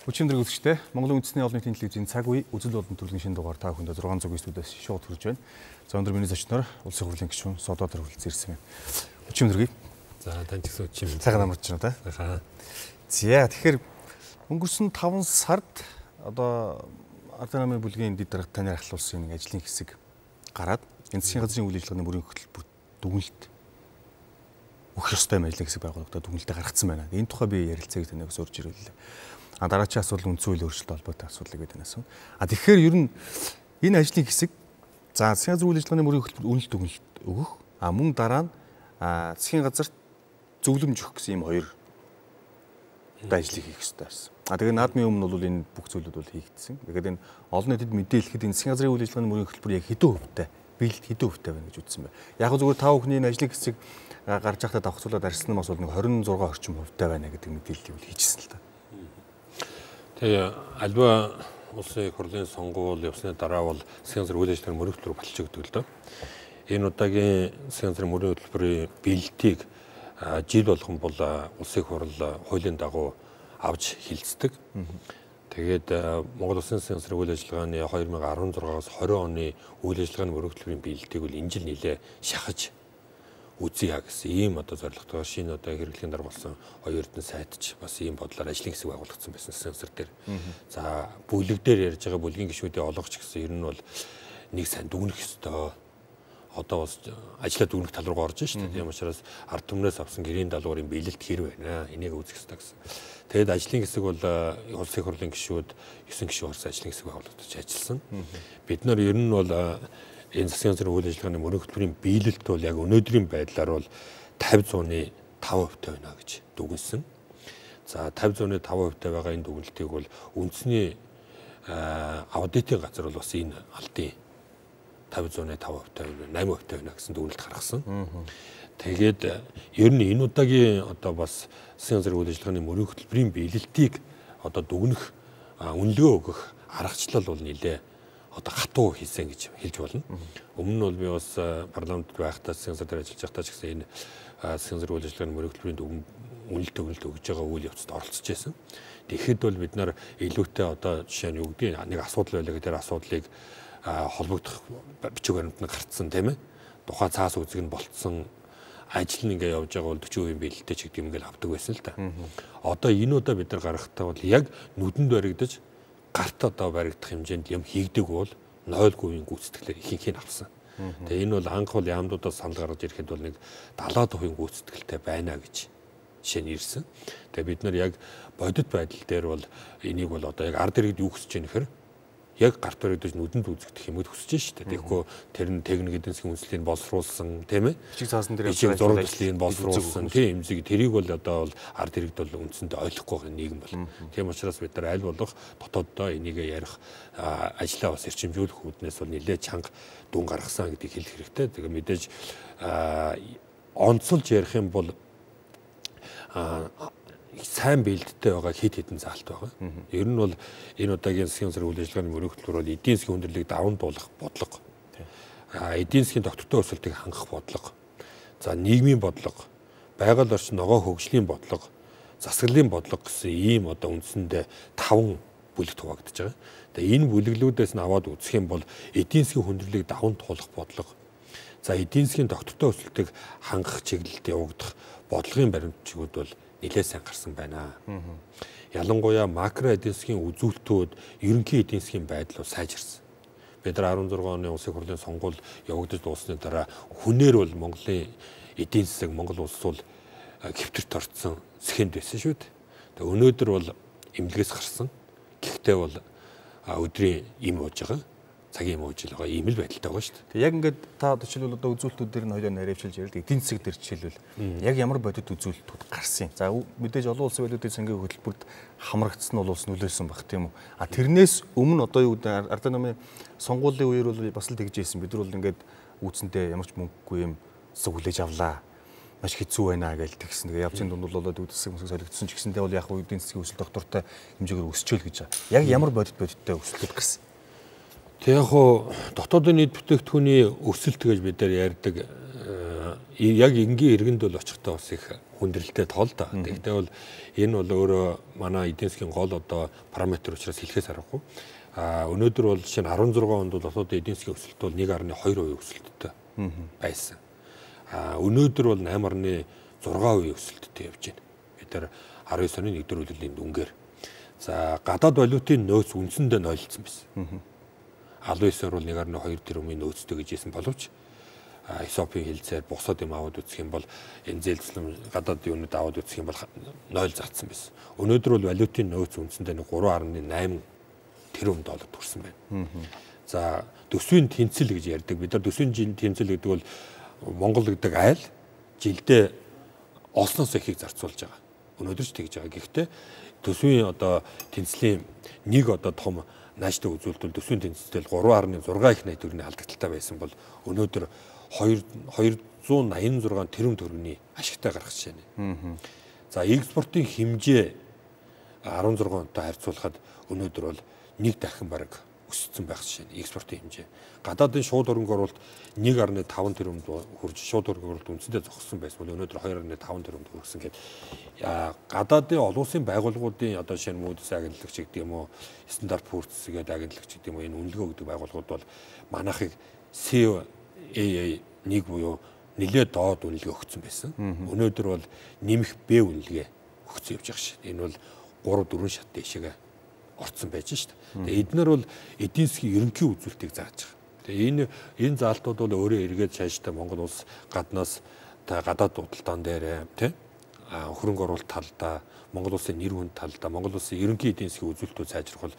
Өчигдөр үзэгчтэй Монголын үндэсний олон нийтийн телевизийн цаг үе үзэл болон төрлийн шинэ дугаар та бүхэнд 609 студиэс шууд хүрж байна. За өнөөдөр миний зочноор улсын хурлын гишүүн Содотор хүрэлцэн ирсэн байна. Өчигдөр. За танд ч өчигдөр. Цагаан амарч байна та. За тэгэхээр өнгөрсөн 5 сард одоо Ардын намын бүлгийн дэд дарга танаар ахлуулсан нэг ажлын хэсэг гараад энэ засгийн газрын үйл ажиллагааны мөрийн хөтөлбөр дүгнэлт өгөх ёстой юм ажлын хэсэг байгуулагдаад дүгнэлтээ гаргацсан байна. Энэ тухай би ярилцааг танаас урьж ирүүллээ. Дараачийн асуудал үндсэн хууль өөрчлөлт холбоотой асуудлыг бид танаас. Тэгэхээр ер нь энэ ажлын хэсэг засгийн газрын үйл ажиллагааны мөрийн хөтөлбөр үнэлт дүгнэлт өгөх мөн дараа нь засгийн газарт зөвлөмж өгөх гэсэн ийм хоёр ажлыг хийх ёстой байсан. Тэгээ наадмын өмнө бол энэ бүх зүйлүүд бол хийгдсэн. Тэгэхээр энэ олон нийтэд мэдээлэхэд энэ засгийн газрын үйл ажиллагааны мөрийн хөтөлбөр яг хэдэн хувьтай, биелэлт хэдэн хувьтай байна гэж үзсэн байна. Яг нь зүгээр 5 хүний энэ ажлын хэсэг гарч байхдаа давхцуулаад арьсан нь бас бол нэг 26 орчим хувьтай байна гэдэг мэдээллийг бол хийжсэн л та. Тэгээ альва улсын их хурлын сонгуул явсны дараа бол засгийн газрын үйл ажиллагааны мөрийн хөтөлбөр болчихдог л доо. Энэ удаагийн засгийн газрын мөрийн хөтөлбөрийн биелэлтийг жил болгон бол улсын их хурл хуулийн дагуу авч хилцдэг. Тэгээд Монгол Улсын засгийн газрын үйл ажиллагааны 2016-аас 20 оны үйл ажиллагааны мөрийн хөтөлбөрийн биелэлтийг бол энэ жил нэлээ шахаж үзье гэсэн ийм одоо зорилготойгоор шинэ одоо хэрэглэхийн дараа болсон хоёр эрдэнэ сайт ч бас ийм бодлоор ажлын хэсэг байгуулагдсан байсан засгийн газар дээр. За бүлэг дээр ярьж байгаа бүлгийн гишүүдийн олгогч гэсэн ер нь бол нэг сайн дүгнэх ёстой. Одоо бас ажлаа дүгнэх тал руу орж шүү дээ. Тийм учраас ард түмнээс авсан гэрийн даалгаврын биелэлт хэр байна. Энийг үзэх ёстой гэсэн. Тэгэд ажлын хэсэг бол улсын их хурлын гишүүд 9 гишүүн орсон ажлын хэсэг байгуулагдаж ажилласан. Бид нар ер нь бол энэ засгийн газрын үйл ажиллагааны мөрийн хөтөлбөрийн биелэлт бол яг өнөөдрийн байдлаар бол 50-100-ны 5% байна гэж дүгнсэн. За 50-100-ны 5% байгаа энэ дүгнэлтийг бол үндэсний аудитын газар бол бас энэ алдын 50-100-ны 5% байна, 8% байна гэсэн дүгнэлт гаргасан. Тэгээд ер нь энэ удаагийн одоо бас засгийн газрын үйл ажиллагааны мөрийн хөтөлбөрийн биелэлтийг одоо дүгнэх үнэлгээ өгөх аргачлал бол нэлээ одоо хатуу хийсэн гэж хэлж болно. Өмнө нь бол би бас парламентд байхдаа засгийн газар дээр ажиллаж байхдаа ч гэсэн энэ засгийн газрын үйл ажиллагааны мөрийн хөтөлбөрийн үнэлт өгж байгаа үйл явцад оролцож байсан. Тэгэхэд бол бид нар илүүтэй одоо жишээ нь юу гэдэг нэг асуудал байлаа гэдэг асуудлыг холбогдох бичиг баримтанд гарцсан тийм ээ. Тухайн цаас үзэг нь болцсон ажил нь ингээ явж байгаа бол 40% биелэлтэй ч гэдэг юм ингээл авдаг байсан л та. Одоо энэ удаа бид нар гаргахтаа бол яг нүдэнд баригдаж гарт одоо баригдах хэмжээнд юм хийгдэг бол 0% гүйцэтгэлээр ихэнх нь авсан. Тэгээ энэ бол анх бол яамдуудаас санал гаргаж ирэхэд бол нэг 70% гүйцэтгэлтэй байна гэж жишээ нь ирсэн. Тэгээ бид нар яг бодит байдал дээр бол энийг бол одоо яг ард иргэд юу хүсэж байгаа нөхөр яг гарт баригдаж нүдэнд үзэгдэх юмуд хүсэж байна шүү дээ. Тэгэхгүй тэр нь техник эдийн засгийн үндэслэлийг боловсруулсан тийм ээ. Бичиг цаасан дээр бичиг зураг төслийг боловсруулсан тийм эмзэг тэрийг бол одоо бол ард иргэд бол үндсэндээ ойлгохгүй байгаа нийгэм бол. Тийм учраас бид нар аль болох дотооддоо энийг ярих ажлаа бас эрчимжүүлэх үүднээс бол нэлээд чанга дүн гаргасан гэдгийг хэлэх хэрэгтэй. Тэгээ мэдээж онцолж ярих юм бол сайн биелэлттэй байгаа хэд хэдэн заалт байгаа. Ер нь бол энэ удаагийн засгийн газрын үйл ажиллагааны мөрийн хөтөлбөр бол эдийн засгийн хүндрэлийг даван туулах бодлого, эдийн засгийн тогтвортой өсөлтийг хангах бодлого, за нийгмийн бодлого, байгаль орчин ногоо хөгжлийн бодлого, засаглалын бодлого гэсэн ийм одоо үндсэндээ 5 бүлэгт хуваагдаж байгаа. Тэгээ энэ бүлэглүүдээс нь аваад үзэх юм бол эдийн засгийн хүндрэлийг даван туулах бодлого, за эдийн засгийн тогтвортой өсөлтийг хангах чиглэлд явагдах бодлогын баримтчигуд бол нэлээд сайн гарсан байна. Ялангуяа макро эдийн засгийн үзүүлэлтүүд ерөнхий эдийн засгийн байдал бол сайжирсан. Бид нар 16 оны улсын хурлын сонгуул явагдаж дуусны дараа хүнээр бол Монголын эдийн засаг Монгол улс бол хэвтэрт орцсон сэхэнд байсан шүү дээ. Тэгээ өнөөдөр бол эмнэлгээс гарсан. Гэхдээ бол өдрийн им ууж байгаа. Цагийн им ууж байгаа ийм л байдалтай байгаа шүү дээ. Яг ингээд та жишээлбэл одоо үзүүлэлтүүд дээр нь хоёлоо наривчилж ярил. Эдийн засаг дээр жишээлбэл яг ямар бодит үзүүлэлтүүд гарсан. За мэдээж олон улсын байлуудын сангийн хөтөлбөрт хамрагдсан нь бол улс нөлөөсөн баг тийм үү. Тэрнээс өмнө одоо юу гэдэг Ардын намын сонгуулийн үеэр бол бас л тэгж ийсэн. Бид нар бол ингээд үүсэндээ ямар ч мөнгөгүй юм хүлээж авлаа. Маш хэцүү байна гэж тэгсэн. Тэгээ явцын дунд бол болоод үдсэг mëсэг солигдсон ч гэсэндээ бол яг эдийн засгийн өсөлт доктортой хэмжээгээр өсчөөл гэж байгаа. Яг ямар бодиттой өсөлтөд гарсан. Тэг яг хоо дотоодын нийт бүтээгдэхүүний өсөлт гэж бид нар ярьдаг яг энгийн иргэнд бол очихдоо бас их хүндрэлтэй тоол да. Гэхдээ бол энэ бол өөрөө манай эдийн засгийн гол одоо параметр учраас хэлхээс аргагүй. Өнөөдөр бол жишээ нь 16 онд бол дотоод эдийн засгийн өсөлт бол 1.2% өсөлттэй байсан. Өнөөдөр бол 8.6% өсөлттэй явж байна. Бид нар 19 оны 1-р үеийн дүнгээр. За гадаад валютын нөөц үндсэндээ нойлцсон байсан. 19-оор бол 1.2 тэрбумын нөөцтэй гэж хэлсэн боловч СОП-ийн хилцээр бусад юм аваад үзэх юм бол энэ зээлцлэн гадаад юунууд аваад үзэх юм бол 0 зарцсан байсан. Өнөөдөр бол валютын нөөц үндсэндээ 3.8 тэрбум доллар төрсөн байна. За төсвийн тэнцэл гэж ярьдаг. Бид нар төсвийн тэнцэл гэдэг бол Монгол гэдэг айл жилдээ олсноос ихийг зарцуулж байгаа. Өнөөдөр ч тэгж байгаа. Гэхдээ төсвийн одоо тэнцлийн нэг одоо том нааштай үзүүлэлт бол төсвийн тэнцэлтэй 3.6 их найт төгрөгийн алдагдaltaй байсан бол өнөөдөр 286 тэрбум төгрөгийн ашигтай гарах жишээ нэ. За экспортын хэмжээ 16 онтой харьцуулахад өнөөдөр бол нэг дахин бараг өссөн байх жишээ нэ. Экспортын хэмжээ. Гадаадын шууд хөрөнгө оруулалт 1.5 тэрбум хүрж шууд хөрөнгө оруулалт үндсэндээ зогссон байсан бол өнөөдөр 2.5 тэрбум хүрсэн гэдэг. Гадаадын олон улсын байгууллагуудын одоо жишээ нь Moody's агентлагч гэдэг юм уу, Standard Poor's гэдэг агентлагч гэдэг юм уу, энэ үнэлгээ өгдөг байгууллагууд бол манайхыг CAA 1 буюу нэлээд доод үнэлгээ өгсөн байсан. Өнөөдөр бол нэмэх Б үнэлгээ өгсөн явж байгаа шээ. Энэ бол 3-4 шат дэшегээ орцсон байж шээ. Тэгээ эднэр бол эдийн засгийн ерөнхий үзүүлэлтийг зааж байгаа. Тэгээ энэ заалтууд бол өөрөө эргээд цаашдаа Монгол улс гаднаас гадаад худалдаан дээр тий хөрөнгө оруулалт талдаа Монгол улсын нэр хүнд талдаа Монгол улсын ерөнхий эдийн засгийн үзүүлэлтүүд сайжрах бол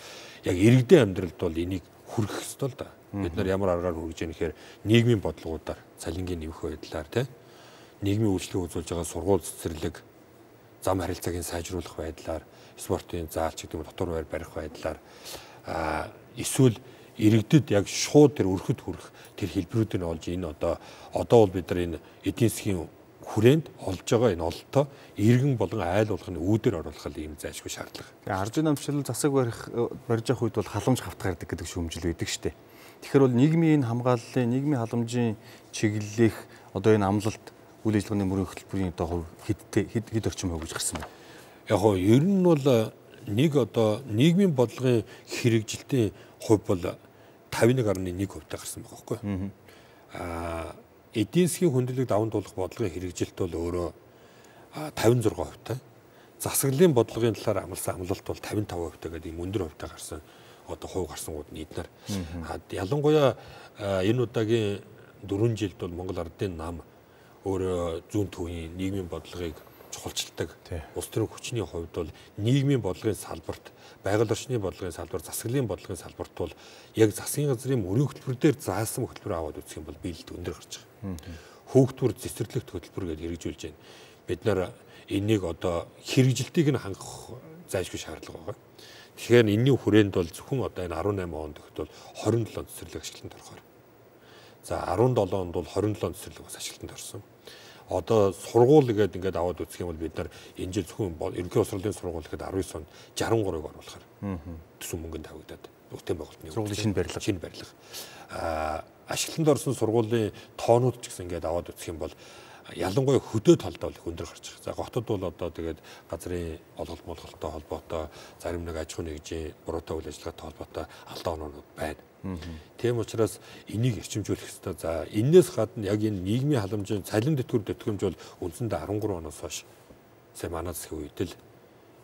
яг иргэдийн амьдралд бол энийг хүргэх ёстой л да. Бид нар ямар аргаар хүргэж яах гэхээр нийгмийн бодлогуудаар цалингийн нэмэх байдлаар тий нийгмийн үйлчлэг үзүүлж байгаа сургууль цэцэрлэг зам харилцааг сайжруулах байдлаар спортын заалч гэдэг нь дотор байр барих байдлаар эсвэл иргэдэд яг шууд тэр өрхөд хүрэх тэр хэлбэрүүдийг олж энэ одоо бол бид нар энэ эдийн засгийн хүрээнд олж байгаа энэ ололтоо иргэн болон айл болгоны үүдээр оруулах юм зайлшгүй шаардлага. Тэгээ аржин намшил засаг барьж явах үед бол халамж хавтах ярддаг гэдэг шүүмжил байдаг шүү дээ. Тэгэхээр бол нийгмийн энэ хамгааллын, нийгмийн халамжийн чиглэлийнх одоо энэ амлалт үйл ажиллагааны мөрийн хөтөлбөрийн одоо хэд орчим хувь гэж гарсан байна. Яг гоо ер нь бол нэг одоо нийгмийн бодлогын хэрэгжилтийн хувь бол 51.1% гарсан байгаа байхгүй. Эдийн засгийн хүндрэлийг даван туулах бодлогын хэрэгжилт бол өөрөө 56%. Засаглалын бодлогын талаар амласан амлалт бол 55% гэдэг ийм өндөр хувьтай гарсан одоо хувь гарсангууд нь эднэр. Ялангуяа энэ удаагийн 4 жилд бол Монгол Ардын нам өөрөө зүүн төвийн нийгмийн бодлогыг чухалчилдаг. Улс төрийн хүчний хувьд бол нийгмийн бодлогын салбарт, байгаль орчны бодлогын салбар, засаглалын бодлогын салбарт бол яг засгийн газрын мөрийн хөтөлбөр дээр заасан хөтөлбөр аваад үзэх юм бол биелэлт өндөр гарч байгаа. Хөөгтвөр цэцэрлэгт хөтөлбөр гэж хэрэгжүүлж байна. Бид нар энийг одоо хэрэгжилтийг нь хангах зайлшгүй шаардлага байгаа. Тэгэхээр энэний хүрээнд бол зөвхөн одоо энэ 18 онд өгт бол 27 цэцэрлэг ашиглалтанд орохоор. За 17 онд бол 27 цэцэрлэг бас ашиглалтанд орсон. Одоо сургууль гэдэг ингээд аваад үзэх юм бол бид нар энэ жил зөвхөн ерөнхий боловсролын сургууль гэхэд 19 онд 63-ыг оруулахаар төсөв мөнгөнд тавигдаад бүтээн байгуулалтны сургуулийн шинэ барилга. Ашиглалтанд орсон сургуулийн тоонууд ч гэсэн ингээд аваад үзэх юм бол ялангуяа хөдөө талдаа их өндөр гарч байгаа. За готод бол одоо тэгээд газрын олголт молголттой холбоотой зарим нэг аж ахуйн нэгжийн буруутай үйл ажиллагаатай холбоотой алдаа оноонууд байна. Тийм учраас энийг эрчимжүүлэх ёстой. За энээс гадна яг энэ нийгмийн халамжийн цалин тэтгэврж бол үндсэндээ 13 оноос хойш сая манай засгийн үед л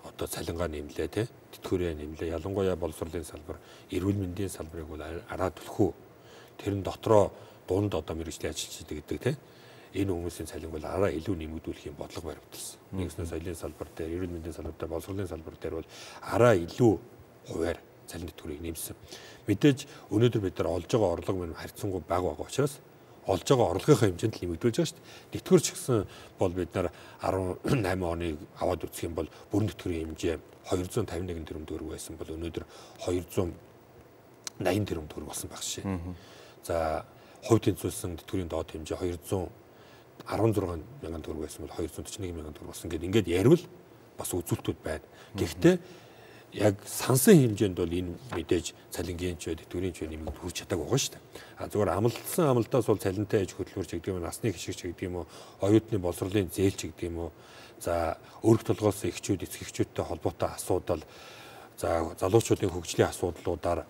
одоо цалингаа нэмлээ тий тэтгэврээ нэмлээ. Ялангуяа боловсролын салбар, эрүүл мэндийн салбарыг бол араа түлхүү. Тэрэн дотроо дунд одоо мэргэжлийн ажилчид гэдэг тий энэ хүмүүсийн цалин бол араа илүү нэмэгдүүлэх юм бодлого баримталсан. Нэгснээ соёлын салбар дээр, эрүүл мэндийн салбар дээр, боловсролын салбар дээр бол араа илүү хуваар цалин тэтгэврийг нэмсэн. Мэдээж өнөөдөр бид нар олж байгаа орлого мань харьцангуй бага байгаа учраас олж байгаа орлогынхаа хэмжээнд л нэмэгдүүлж байгаа шүү дээ. Тэтгэврч гэсэн бол бид нар 18 оныг аваад үзэх юм бол бүрэн тэтгэврийн хэмжээ 251 тэрбум төгрөг байсан бол өнөөдөр 280 тэрбум төгрөг болсон байх шээ. За хувь тэнцвэрсэн тэтгэврийн доод хэмжээ 216 мянган төгрөг байсан бол 241 мянган төгрөг болсон гэдэг ингээд ярил бас үзүүлэлтүүд байна. Гэхдээ яг сансан хэмжээнд бол энэ мэдээж цалингийн ч тэтгэврийн ч нэмэгд хүрч чадаагүй байгаа шүү дээ. Зүгээр амлалтсан амлалтаас бол цалинтай аж хөдөлмөрч гэдэг юм, насны гişгч гэдэг юм уу, оюутны боловсролын зээлч гэдэг юм уу. За өргөх толгоос эхчүүд, эцэг эхчүүдтэй холбоотой асуудал, за залуучуудын хөгжлийн асуудлуудаар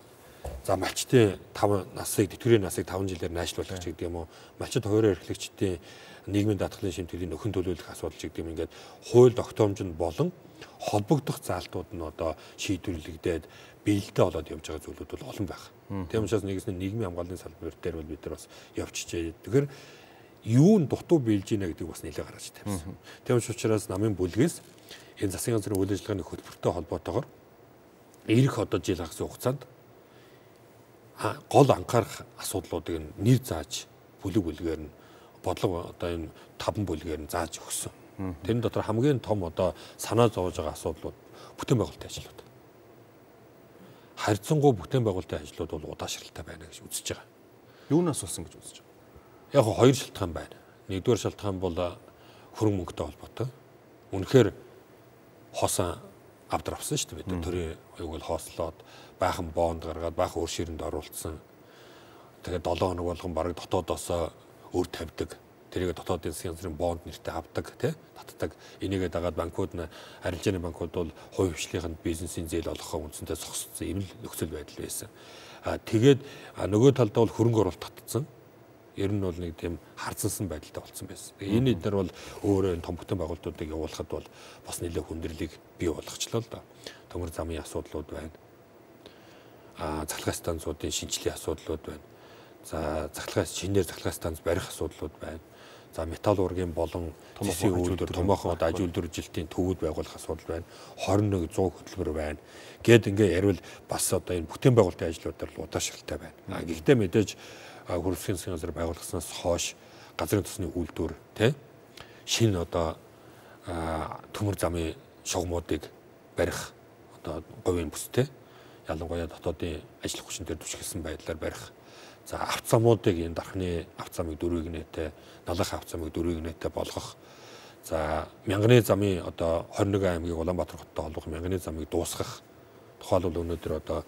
за малчтын 5 насыг тэтгэврийн насыг 5 жилээр найшлуулах гэдэг юм уу. Малчид хуваарь эрхлэгчдийн нийгмийн даатгалын шимтгэлийн нөхөн төлөвлөх асуудал гэдэг юм ингээд хууль тогтоомжинд болон холбогдох заалтууд нь одоо шийдвэрлэгдээд биелэлтэй болоод явж байгаа зүйлүүд бол олон байна. Тийм учраас нэгэн нийгмийн хамгааллын салбар дээр бол бид нар бас явчихжээ. Тэгэхээр юун дутуу биелж ийна гэдэг бас нэлээд гаргаж тавьсан. Тийм учраас намын бүлгээс энэ засгийн газрын үйл ажиллагааны хөтөлбөртэй холбоотойгоор ирэх одоо жил хагас хугацаанд гол анхаарах асуудлуудыг нэр зааж бүлгээр нь бодлого одоо энэ 5 бүлгээр нь зааж өгсөн. Тэрэн дотор хамгийн том одоо санаа зовж байгаа асуудлууд бүтээн байгуулалтын ажлууд. Харьцангуй бүтээн байгуулалтын ажлууд бол удаашралтай байна гэж үзэж байгаа. Юунаас болсон гэж үзэж байгаа? Яг хоёр шалтгаан байна. Нэгдүгээр шалтгаан бол хөрөнгө мөнгөтэй холбоотой. Үнэхээр хоосон авдар авсан шүү дээ. Бид төрийн оюуг бол хоослоод баахан бонд гаргаад баахан өр ширэнд оруулсан. Тэгээд 7 хоног болгон бараг дотоодоосоо өр тавьдаг. Тэрийг дотоодын засгийн газрын бонд нэртэй авдаг, татдаг. Энийгээ дагаад банкуд нь арилжааны банкуд бол хувь хвшлийнхэнд бизнесийн зээл олгохоо үндсэндээ зогссон ийм л нөхцөл байдал байсан. Тэгээд нөгөө талдаа бол хөрөнгө оруулалт татсан. Ер нь бол нэг тийм харцсан байдалтай болсон байсан. Энэ эдгээр бол өөрөө том бүтээн байгуулалтуудыг явуулахад бол бас нэлээд хүндрэлийг бий болгочлоо л да. Төмөр замын асуудлууд байна. Цахилгаан станцуудын шинжилгээ асуудлууд байна. За шинээр цахилгаан станц барих асуудлууд байна. За металл ургийн болон төсвийн үйлдвэр, томоохон аж үйлдвэржилтийн төвүүд байгуулах асуудал байна. 21 100 хөтөлбөр байна. Гэт ингээ ярил бас одоо энэ бүтээн байгуулалтын ажлуудаар л удаашралтай байна. Гэхдээ мэдээж хөрвсөн засгийн газар байгуулгаснаас хойш газрын тосны үйлдвэр шинэ одоо төмөр замын шугамуудыг барих одоо говийн бүстэй ялангуяа дотоодын ажил хүчин дээр түшгэлсэн байдлаар барих. За авто замуудыг энэ дархны авто замыг 4-ийг нээтэй, налах авто замыг 4-ийг нээтэй болгох. За мянганы замын одоо 21 аймгийг Улаанбаатар хоттой холбох мянганы замыг дуусгах. Тухайлбал өнөөдөр одоо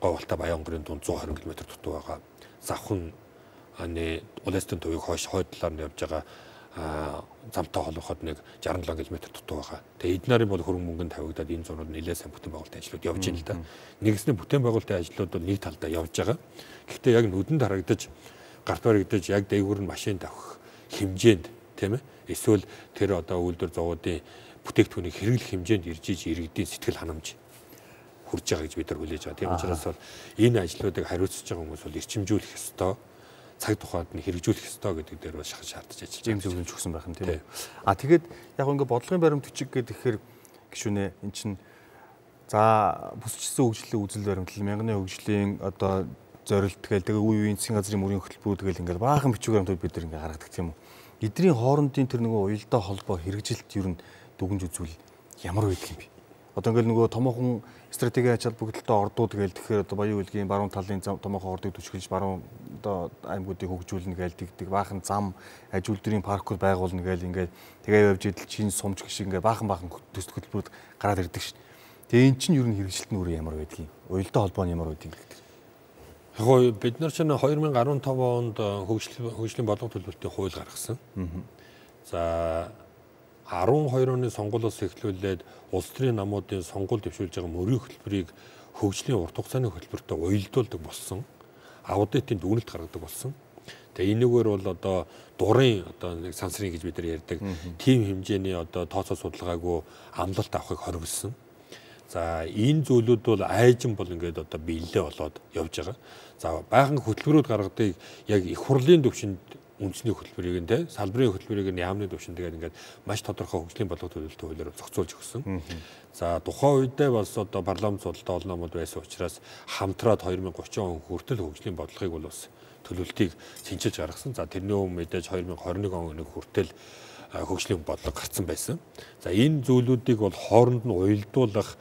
Говьалтай Баянгарын дунд 120 км дутуу байгаа. Завхан улаастын төвийг хойд талаар нь явж байгаа замтай холбоход нэг 67 км дутуу байгаа. Тэгээ эднэрийн бол хөрөнгө мөнгөнд тавигдаад энэ зурнууд нэлээд сайн бүтээн байгуулалтын ажлууд явж байна л да. Нэгснээ бүтээн байгуулалтын ажлууд бол нэг талдаа явж байгаа. Гэхдээ яг нүдэнд харагдаж гарт баригдаж яг дээгүүр нь машин тавих хэмжээнд тийм ээ. Эсвэл тэр одоо үйлдвэр зовоодын бүтээгдэхүүнийг хэрэглэх хэмжээнд ирж иргэдийн сэтгэл ханамж хүрж байгаа гэж бид нар хүлээж байгаа. Тийм учраас бол энэ ажлуудыг хариуцж байгаа хүмүүс бол эрчимжүүлэх ёстой. Цаг тухайд нь хэрэгжүүлэх ёстой гэдэг дээр бол шаардж ажиллаж байгаа. Ийм зөвлөмж өгсөн байх юм тийм үү. Тэгээд яг ингээ бодлогын баримт бичиг гэхээр гişүнэ эн чин за бүсчсэн хөгжлийн үзэл баримтлал мянганы хөгжлийн одоо зорилт гээл тэгээ үе үеийн засгийн газрын мөрийн хөтөлбөрүүд гээл ингээ баахан бичиг баримтууд бид нар ингээ гаргадаг тийм үү. Эдний хоорондын тэр нөгөө уялдаа холбоо хэрэгжилт ер нь дүгнж үзвэл ямар байдаг юм бэ? Одоо ингээл нөгөө томоохон стратегийн ачаал бүгдэлтэй ордууд гээл тэгэхээр одоо Баян Улгийн баруун талын томоохон ордыг түшгэлж баруун одоо аймагуудыг хөгжүүлнэ гээл тэгдэг баахан зам аж үйлдвэрийн паркууд байгуулна гээл ингээд тэгээ явж идэл чин сумч гişиг ингээд баахан төс хөтөлбөрүүд гараад ирдэг шин. Тэгээ эн чинь ер нь хэрэгжилт нь ямар байдаг юм? Уялдаа холбоо нь ямар байдаг гэдэг. Яг бид нар чинь 2015 онд хөгжлийн бодлого төлөвлөлтийн хууль гаргасан. За 12 оны сонгуулиос эхлүүлээд улс төрийн намуудын сонгуул дэвшүүлж байгаа мөрийн хөтөлбөрийг хөгжлийн урт хугацааны хөтөлбөртөө уялдуулдаг болсон. Аудитын дүгнэлт гаргадаг болсон. Тэгээ энэгээр бол одоо дурын одоо нэг сансрын гэж бид нар ярьдаг тим хэмжээний одоо тооцоо судалгаагүй амлалт авахыг хоригдсон. За энэ зүйлүүд бол айжин бол ингээд одоо биелэлээ болоод явж байгаа. За баахан хөтөлбөрүүд гаргадаг яг их хурлын төвшөнд үндэсний хөтөлбөрийг нь салбарын хөтөлбөрийг нь яамны төвшөнд тэгээд ингээд маш тодорхой хөгжлийн бодлого төлөвлөлтөд хуулиар зохицуулж өгсөн. За тухайн үедээ бас одоо парламент судалтай олон номууд байсан учраас хамтраад 2030 он хүртэл хөгжлийн бодлогыг бол бас төлөвлөлтийг шинжилж гаргасан. За тэрний өмнө мэдээж 2021 оны хүртэл хөгжлийн бодлого гарсан байсан. За энэ зүйлүүдийг бол хооронд нь уялдуулах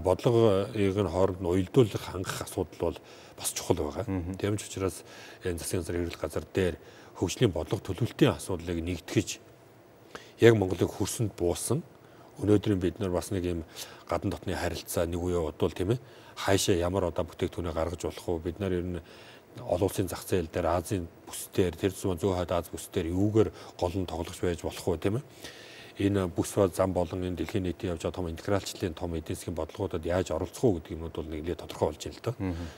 бодлогыг нь хооронд нь уялдуулах хангах асуудал бол бас чухал байгаа. Тийм ч учраас энэ засгийн газрын хэрэглэх газар дээр хөгжлийн бодлого төлөвлөлтийн асуудлыг нэгтгэж яг Монголыг хөрсөнд буусан өнөөдрийн бид нар бас нэг юм гадна дотны харилцаа нэг үе удвал тийм ээ хаашаа ямар одоо бүтээгдэхүүнээ гаргаж болох вэ? Бид нар ер нь олон улсын зах зээл дээр Азийн бүсдээр тэр зүүн хойд Аз бүсдээр юугээр гол нь тоглож байж болох вэ тийм ээ? Энэ бүс ба зам болон энэ дэлхийн нийтийн явж байгаа том интегралчлалын том эдийн засгийн бодлогуудад яаж оролцох уу гэдэг юмнууд бол нэглээ тодорхой болж байна л доо.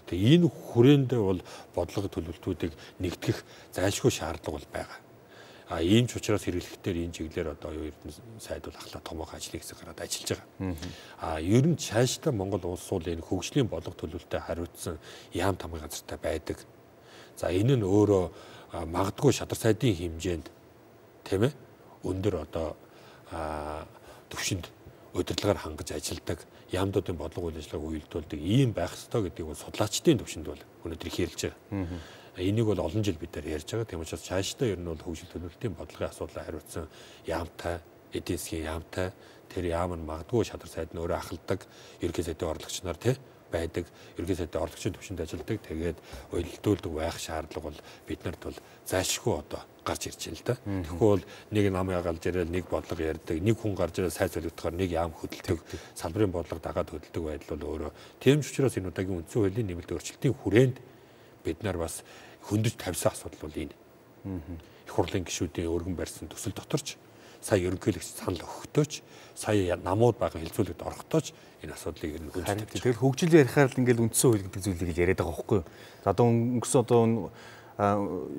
Тэгээ энэ хүрээндээ бол бодлого төлөвлөлтүүдийг нэгтгэх зайлшгүй шаардлага бол байгаа. Ийм ч учраас хэрэглэхтэр энэ чиглэлээр одоо Эрдэнэ сайд бол ахлаа томоохон ажлын хэсэг гараад ажиллаж байгаа. Ер нь цаашдаа Монгол улс бол энэ хөгжлийн бодлого төлөвлөлтөд хариуцсан яам тамгын газартай байдаг. За энэ нь өөрөө магадгүй шадар сайдын хэмжээнд тийм ээ өндөр одоо төвшөнд удирдлагаар хангаж ажилладаг яамдуудын бодлого үйл ажиллагааг үйлдүүлдэг ийм байх ёстой гэдгийг бол судлаачдын төвшөнд бол өнөөдөр хэлж байгаа. Энийг бол олон жил бид нар ярьж байгаа. Тийм учраас цаашдаа ер нь бол хөгжил төлөвлөлтийн бодлогын асуудлаа хариуцсан яамтай, эдийн засгийн яамтай тэр яам нь магадгүй шадар сайд нь өөрөө ахалдаг ерөнхий сайдын орлогч нар тий байдаг. Ерөнхий сайдын орлогчийн төвшөнд ажилладаг. Тэгээд уялдуулдаг байх шаардлага бол биднэрт бол зайлшгүй одоо гарч ирж байна л да. Тэгэхгүй бол нэг нам ягаалж ирэл нэг бодлого ярьдаг, нэг хүн гарч ирэл сайд солигдохоор нэг яам хөдөлдөг, салбарын бодлого дагаад хөдөлдөг байдал бол өөрөө тийм ч учраас энэ удаагийн үндсэн хуулийн нэмэлт өөрчлөлтийн хүрээнд бид нар бас хөндөж тавьсан асуудал бол энэ. Их хурлын гишүүдийн өргөн барьсан төсөл доторч сая ерөнхийлөгч санал өгөхдөөч сая намууд байгаа хэлцүүлэгт орохдооч энэ асуудлыг ер нь хөндөж тавьж. Тэгэхээр хөгжил ярихаар л ингээл үндсэн хууль гэдэг зүйлийг яриад байгаа байхгүй юу? За одоо өнгөрсөн одоо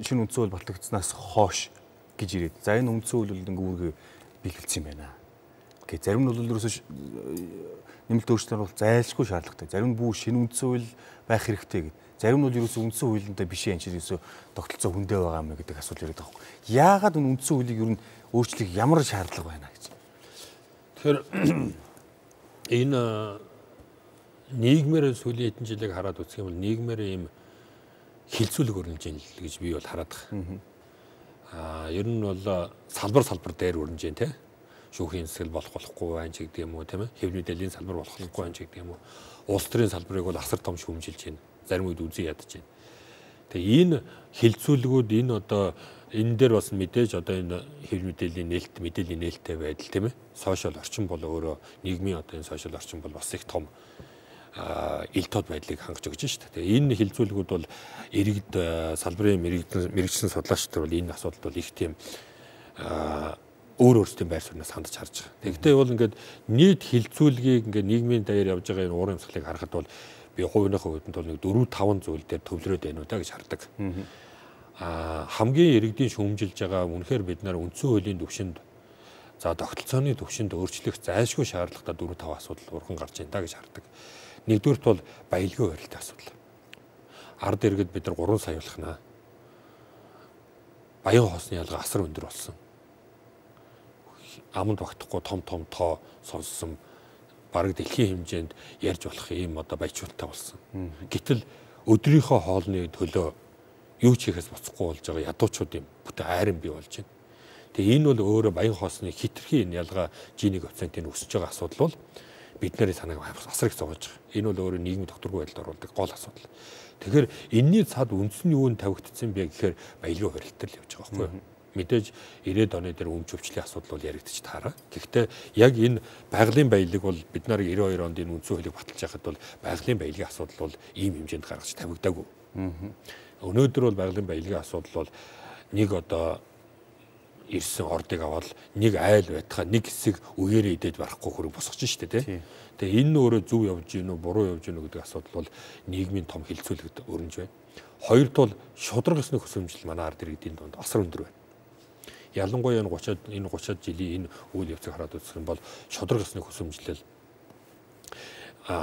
шинэ үндсэн хууль батлагдсанаас хойш гэж ирээд. За энэ үндсэн хууль бол ингээ үүргээ биелүүлсэн юм байна. Окей, зарим нь бол ерөөсөө нэмэлт өөрчлөлтөөр бол зайлшгүй шаардлагатай. Зарим нь бүх шинэ үндсэн хууль байх хэрэгтэй гэдэг. Зарим нь бол ерөөсөө үндсэн хуулиндаа биш юм чи ерөөсөө тогтолцоо хүндээ байгаа юм гэдэг асуудал яриад байгаа юм. Яагаад энэ үндсэн хуулийг ер нь өөрчлөх ямар шаардлага байна гэж. Тэгэхээр энэ нийгмээр сүүлийн хэдэн жилийг хараад үзэх юм бол нийгмээр ийм хилцүүлэг өрнөж ийн л гэж би бол хараад байгаа. Ер нь бол салбар дээр өрнөж ийн те. Шүүхийн засаг болохгүй байх ч гэдэг юм уу тийм ээ. Хэв мэдээллийн салбар болохгүй байх ч гэдэг юм уу. Улс төрийн салбарыг бол асар том шүүмжилж байна. Зарим үед үзий ядаж байна. Тэгээ энэ хилцүүлгүүд энэ одоо энэ дээр бас мэдээж одоо энэ хэв мэдээллийн нээлттэй байдал тийм ээ. Сошиал орчин бол өөрөө нийгмийн одоо энэ сошиал орчин бол бас их том ил тод байдлыг хангаж өгч шүү дээ. Тэгээ энэ хилцүүлгүүд бол иргэд салбарын мэрэгчлэн судлаачдад бол энэ асуудал бол их тийм өөр өөрсдийн байр сууриас хандж харж байгаа. Тэгэхдээ бол ингээд нийт хилцүүлгийг ингээд нийгмийн даяар явж байгаа энэ уурын юмсгалыг харахад бол би хувийнхаа хувьд бол нэг 4-5 зүйл дээр төвлөрөөд байна уу та гэж хардаг. Хамгийн иргэдийн шүүмжилж байгаа үнэхээр бид нар үндсэн хуулийн төвшөнд за тогтолцооны төвшөнд өөрчлөх зайлшгүй шаардлагатай 4-5 асуудал урхан гарч байна та гэж хардаг. Нэгдүгürt бол баялагын хуралтай асуудал. Ард иргэд бид нар 3 сая болохнаа. Баян хоосны ялгаа асар өндөр болсон. Аманд багтахгүй том тоо сонссон бараг дэлхийн хэмжээнд ярьж болох ийм одоо баяжуулалтаа болсон. Гэтэл өдрийнхөө хоолны төлөө юу ч хийхээс буцахгүй болж байгаа ядуучуудын бүтэн айран бий болж байна. Тэгээ энэ бол өөрөө баян хоосны хитрхи энэ ялгаа G1 коэффициентийн өсөж байгаа асуудал бол бид нарын санааг асар их зовоож байгаа. Энэ бол өөрөө нийгмийн докторгүй байдалд оруулдаг гол асуудал. Тэгэхээр энэний цаад үндсэн нь юу нь тавигдсан бэ гэхээр баялагын хуралтай л явж байгаа байхгүй юу? Мэдээж 90-ад оны дээр өмч өвчлийн асуудал бол яригдчих таараа. Гэхдээ яг энэ байгалийн баялаг бол бид нар 92 онд энэ үндсэн хуулийг баталж байхад бол байгалийн баялагын асуудал бол ийм хэмжээнд гаргаж тавигдаагүй. Өнөөдөр бол байгалийн баялагын асуудал бол нэг одоо ирсэн ордыг аваад нэг айл байтхаа нэг хэсэг үеэрээ идээд барахгүй хөрөг босгож штэ тий. Тэгээ энэ өөрөө зөв явж гинүү буруу явж гинүү гэдэг асуудал бол нийгмийн том хилцүүлэгт өрнөж байна. Хоёрт бол шудраг ёсны хөсөмжил манай ард иргэдийн донд асар өндөр байна. Ялангуяа энэ 30-ад жилийн энэ үйл явцыг хараад үзэх юм бол шудраг ёсны хөсөмжлөл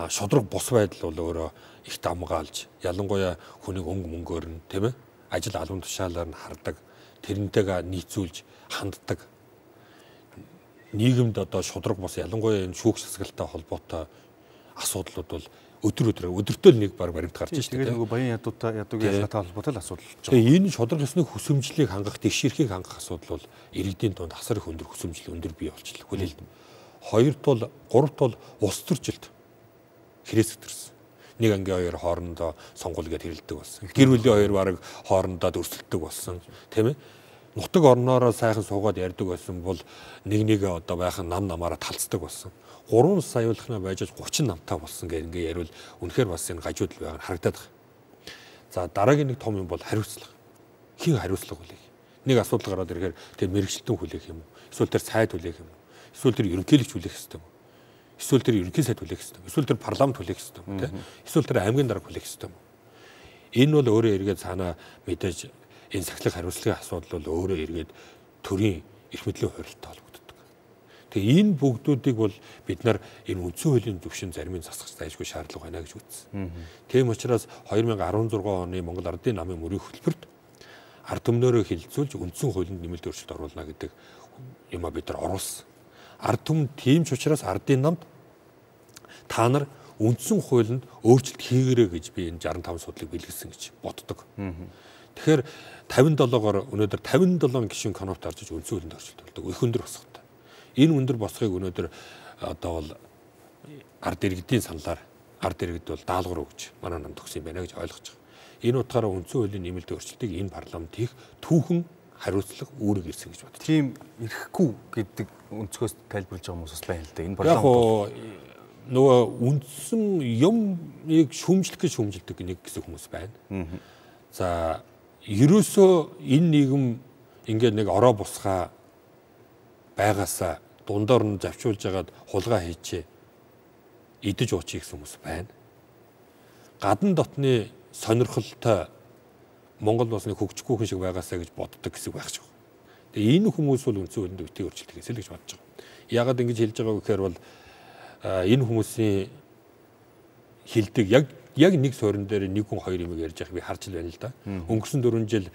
шудраг бус байдал бол өөрөө их дамгаалж ялангуяа хүнийг мөнгөөр нь тийм ээ ажил албан тушаалаар нь хардаг тэрнтэйгээ нийцүүлж ханддаг нийгэмд одоо шудраг бус ялангуяа энэ шүүх засаглалтай холбоотой асуудлууд бол өдөртөө нэг баг баримт гарч байна шүү дээ. Тэгээд нөгөө баян ядуугийн ялгаатай холбоотой л асуудал болж байгаа. Тэгээ энэ шудраг ёсны хөсөмжлийг хангах, тэгшэрхийг хангах асуудал бол иргэдийн донд асар их өндөр хөсөмжил өндөр бий болчихлоо. Хүлээлт. Гуравт бол улс төржилт хэрэгс өтөрсөн. Нэг ангийн хоёр хоорондоо сонгуул гээд хэрэлдэг болсон. Гэр бүлийн хоёр баг хоорондоо өрсөлддөг болсон. Тийм ээ? нутаг орноороо сайхан суугаад ярьдаг байсан бол нэг одоо байхын намаараа талцдаг болсон. 3 саяулахна байж 30 намтай болсон гэх ингээ ярил үнэхээр бас энэ гажууд л байгааг харагдаад байна. За дараагийн нэг том юм бол хариуцлага. Хин хариуцлага хүлээх. Нэг асуудал гараад ирэхээр тэр мэрэгчлэн хүлээх юм уу? Эсвэл тэр сайд хүлээх юм уу? Эсвэл тэр ерөнхийлөгч хүлээх ёстой юм уу? Эсвэл тэр ерөнхий сайд хүлээх ёстой юм уу? Эсвэл тэр парламент хүлээх ёстой юм уу? Эсвэл тэр аймгийн дарга хүлээх ёстой юм уу? Энэ бол өөрөө эргээд цаанаа мэдээж энэ сахилах хариуцлагын асуудал бол өөрөө эргээд төрийн эрх мэдлийн хуультай холбогддог. Тэгээ энэ бүгдүүдийг бол бид нар энэ үндсэн хуулийн зөвшин заримыг засах зайлшгүй шаардлага байна гэж үзсэн. Тийм учраас 2016 оны Монгол Ардын намын мөрийн хөтөлбөрт ард түмнөөрөө хилцүүлж үндсэн хуулинд нэмэлт өөрчлөлт оруулна гэдэг юм а бид нар оруулсан. Ард түмэн тийм ч учраас ардын намд та нар үндсэн хуулинд өөрчлөлт хийгээрэй гэж би энэ 65 судлыг бэлгэлсэн гэж боддог. Тэгэхээр 57-оор өнөөдөр 57 гишүүн конопт орж иж үндсэн хуулинд өөрчлөлт болдог. Их өндөр босготой. Энэ өндөр босхыг өнөөдөр одоо бол ард иргэдийн саналаар ард иргэд бол даалгавар өгч манай намд өгсөн юм байна гэж ойлгож байгаа. Энэ утгаараа үндсэн хуулийн нэмэлт өөрчлөлтийг энэ парламент хийх түүхэн хариуцлага үүрэг ирсэн гэж боддог. Тийм ирэхгүй гэдэг өнцгөөс тайлбарлаж байгаа хүмүүс бас байна л да. Энэ парламент нөгөө үндсэн юмыг шүүмжлэх нэг гэсэн хүмүүс байна. За ерөөсөө энэ нийгэм ингээд нэг ороо бусгаа байгаасаа дундаар нь завчуулж агаад хулгай хийчээ идэж уучих гэсэн хүмүүс байна. Гадна дотны сонирхолтой Монгол улсны хөгжихгүй хүн шиг байгаасаа гэж боддог гэсэн байх ч. Тэгээ энэ хүмүүс бол үндсэн хуулинд өвтгий өөрчлөлт хийсэл гэж бодож байгаа. Яагаад ингэж хэлж байгааг гэхээр бол энэ хүмүүсийн хилдэг яг нэг суурин дээр нэг хүн хоёр юм ярьж байгааг би харж байна л да. Өнгөрсөн 4 жил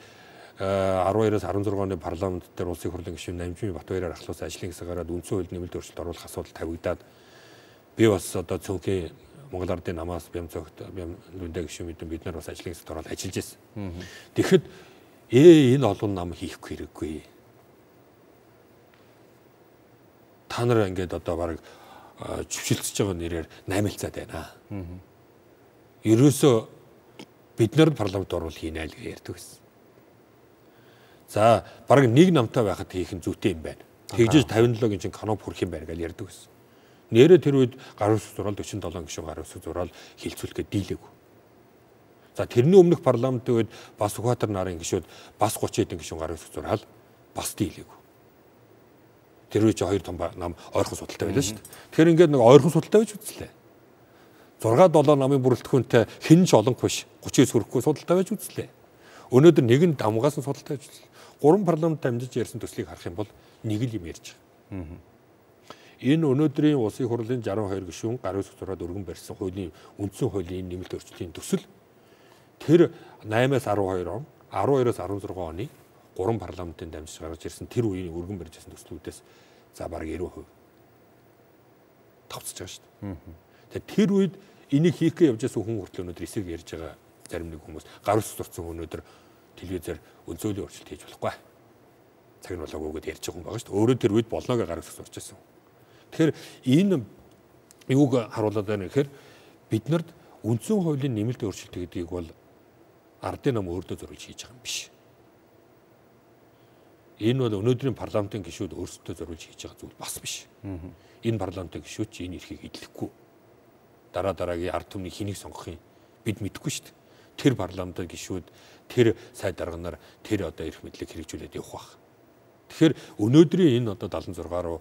12-аас 16 оны парламент дээр улсын хурлын гишүүн Намжин Батбаяраар ахлуулсан ажлын хэсэг гараад үндсэн хуулинд нэмэлт өөрчлөлт оруулах асуудал тавигдаад би бас одоо цөөнхийн Монгол Ардын намаас Бямлүндэ гишүүн бид нар бас ажлын хэсэгт ороод ажиллаж байсан. Тэгэхэд энэ олон нам хийхгүй хэрэггүй. Та нар ингээд одоо баг зөвшөлтсөж байгаа нэрээр наймилцаад байна. Ерөөсөө бид нар парламент оруул хийнэ л гэж ярьдаг байсан. За баг нэг намтай байхад хийх нь зүйтэй юм байна. Тэгжиж 57-гийн чинь каноп хүрэх юм байна гэж ярьдаг байсан. Нэрээ тэр үед гар үсэг зураал 47 гишүүн гар үсэг зураал хилцүүлэхэд дийлээгүй. За тэрний өмнөх парламентын үед бас Сүхбаатар нарын гишүүд бас 30 хэдэн гишүүн гар үсэг зураал бас дийлээгүй. Тэр үед 2 том нам ойрхон судалтай байлаа шүү дээ. Тэгэхээр ингээд нэг ойрхон судалтай байж үзлээ. 6-7 намын бүрэлдэхүүнтэй хэн ч олонх биш 30-с хүрэхгүй судалтай байж үзлээ. Өнөөдөр нэг нь дамгаас нь судалтай байж үзлээ. 3 парламент дамжиж ярьсан төслийг харах юм бол нэг л юм ярьж байгаа. Энэ өнөөдрийн улсын хурлын 62 гишүүн гар үсэг зураад өргөн барьсан хуулийн үндсэн хуулийн нэмэлт өөрчлөлтийн төсөл тэр 8-аас 12 он 12-аас 16 оны 3 парламентын дамжиж гаргаж ирсэн тэр үеийн өргөн барьж ирсэн төслүүдээс за бараг 90% тавцж байгаа шүү дээ. Тэгэхээр тэр үед энийг хийх гэж явж байсан хүн хүртэл өнөөдөр эсрэг ярьж байгаа зарим нэг хүмүүс гар үсэг зурсан өнөөдөр телевизээр өнцөлийн өөрчлөлт хийж болохгүй. Цаг нь болоогүй гэдээ ярьж байгаа хүн байгаа шүү дээ. Өөрөө тэр үед болноо гэж гар үсэг зурж байсан. Тэгэхээр энэ юуг харуулдаг байна гэхээр бид нарт үндсэн хуулийн нэмэлт өөрчлөлт гэдгийг бол ардын нам өөртөө зориулж хийж байгаа юм биш. Энэ бол өнөөдрийн парламентын гишүүд өөрсдөө зориулж хийж байгаа зүйл бас биш. Энэ парламентын гишүүд ч энэ эрхийг эдлэхгүй. Дараагийн ард түмний хэнийг сонгохын бид мэдэхгүй шүү дээ. Тэр парламентын гишүүд тэр сайд дарганаар тэр одоо эрх мэдлийг хэрэгжүүлээд явах байх. Тэгэхээр өнөөдрийн энэ одоо 76 руу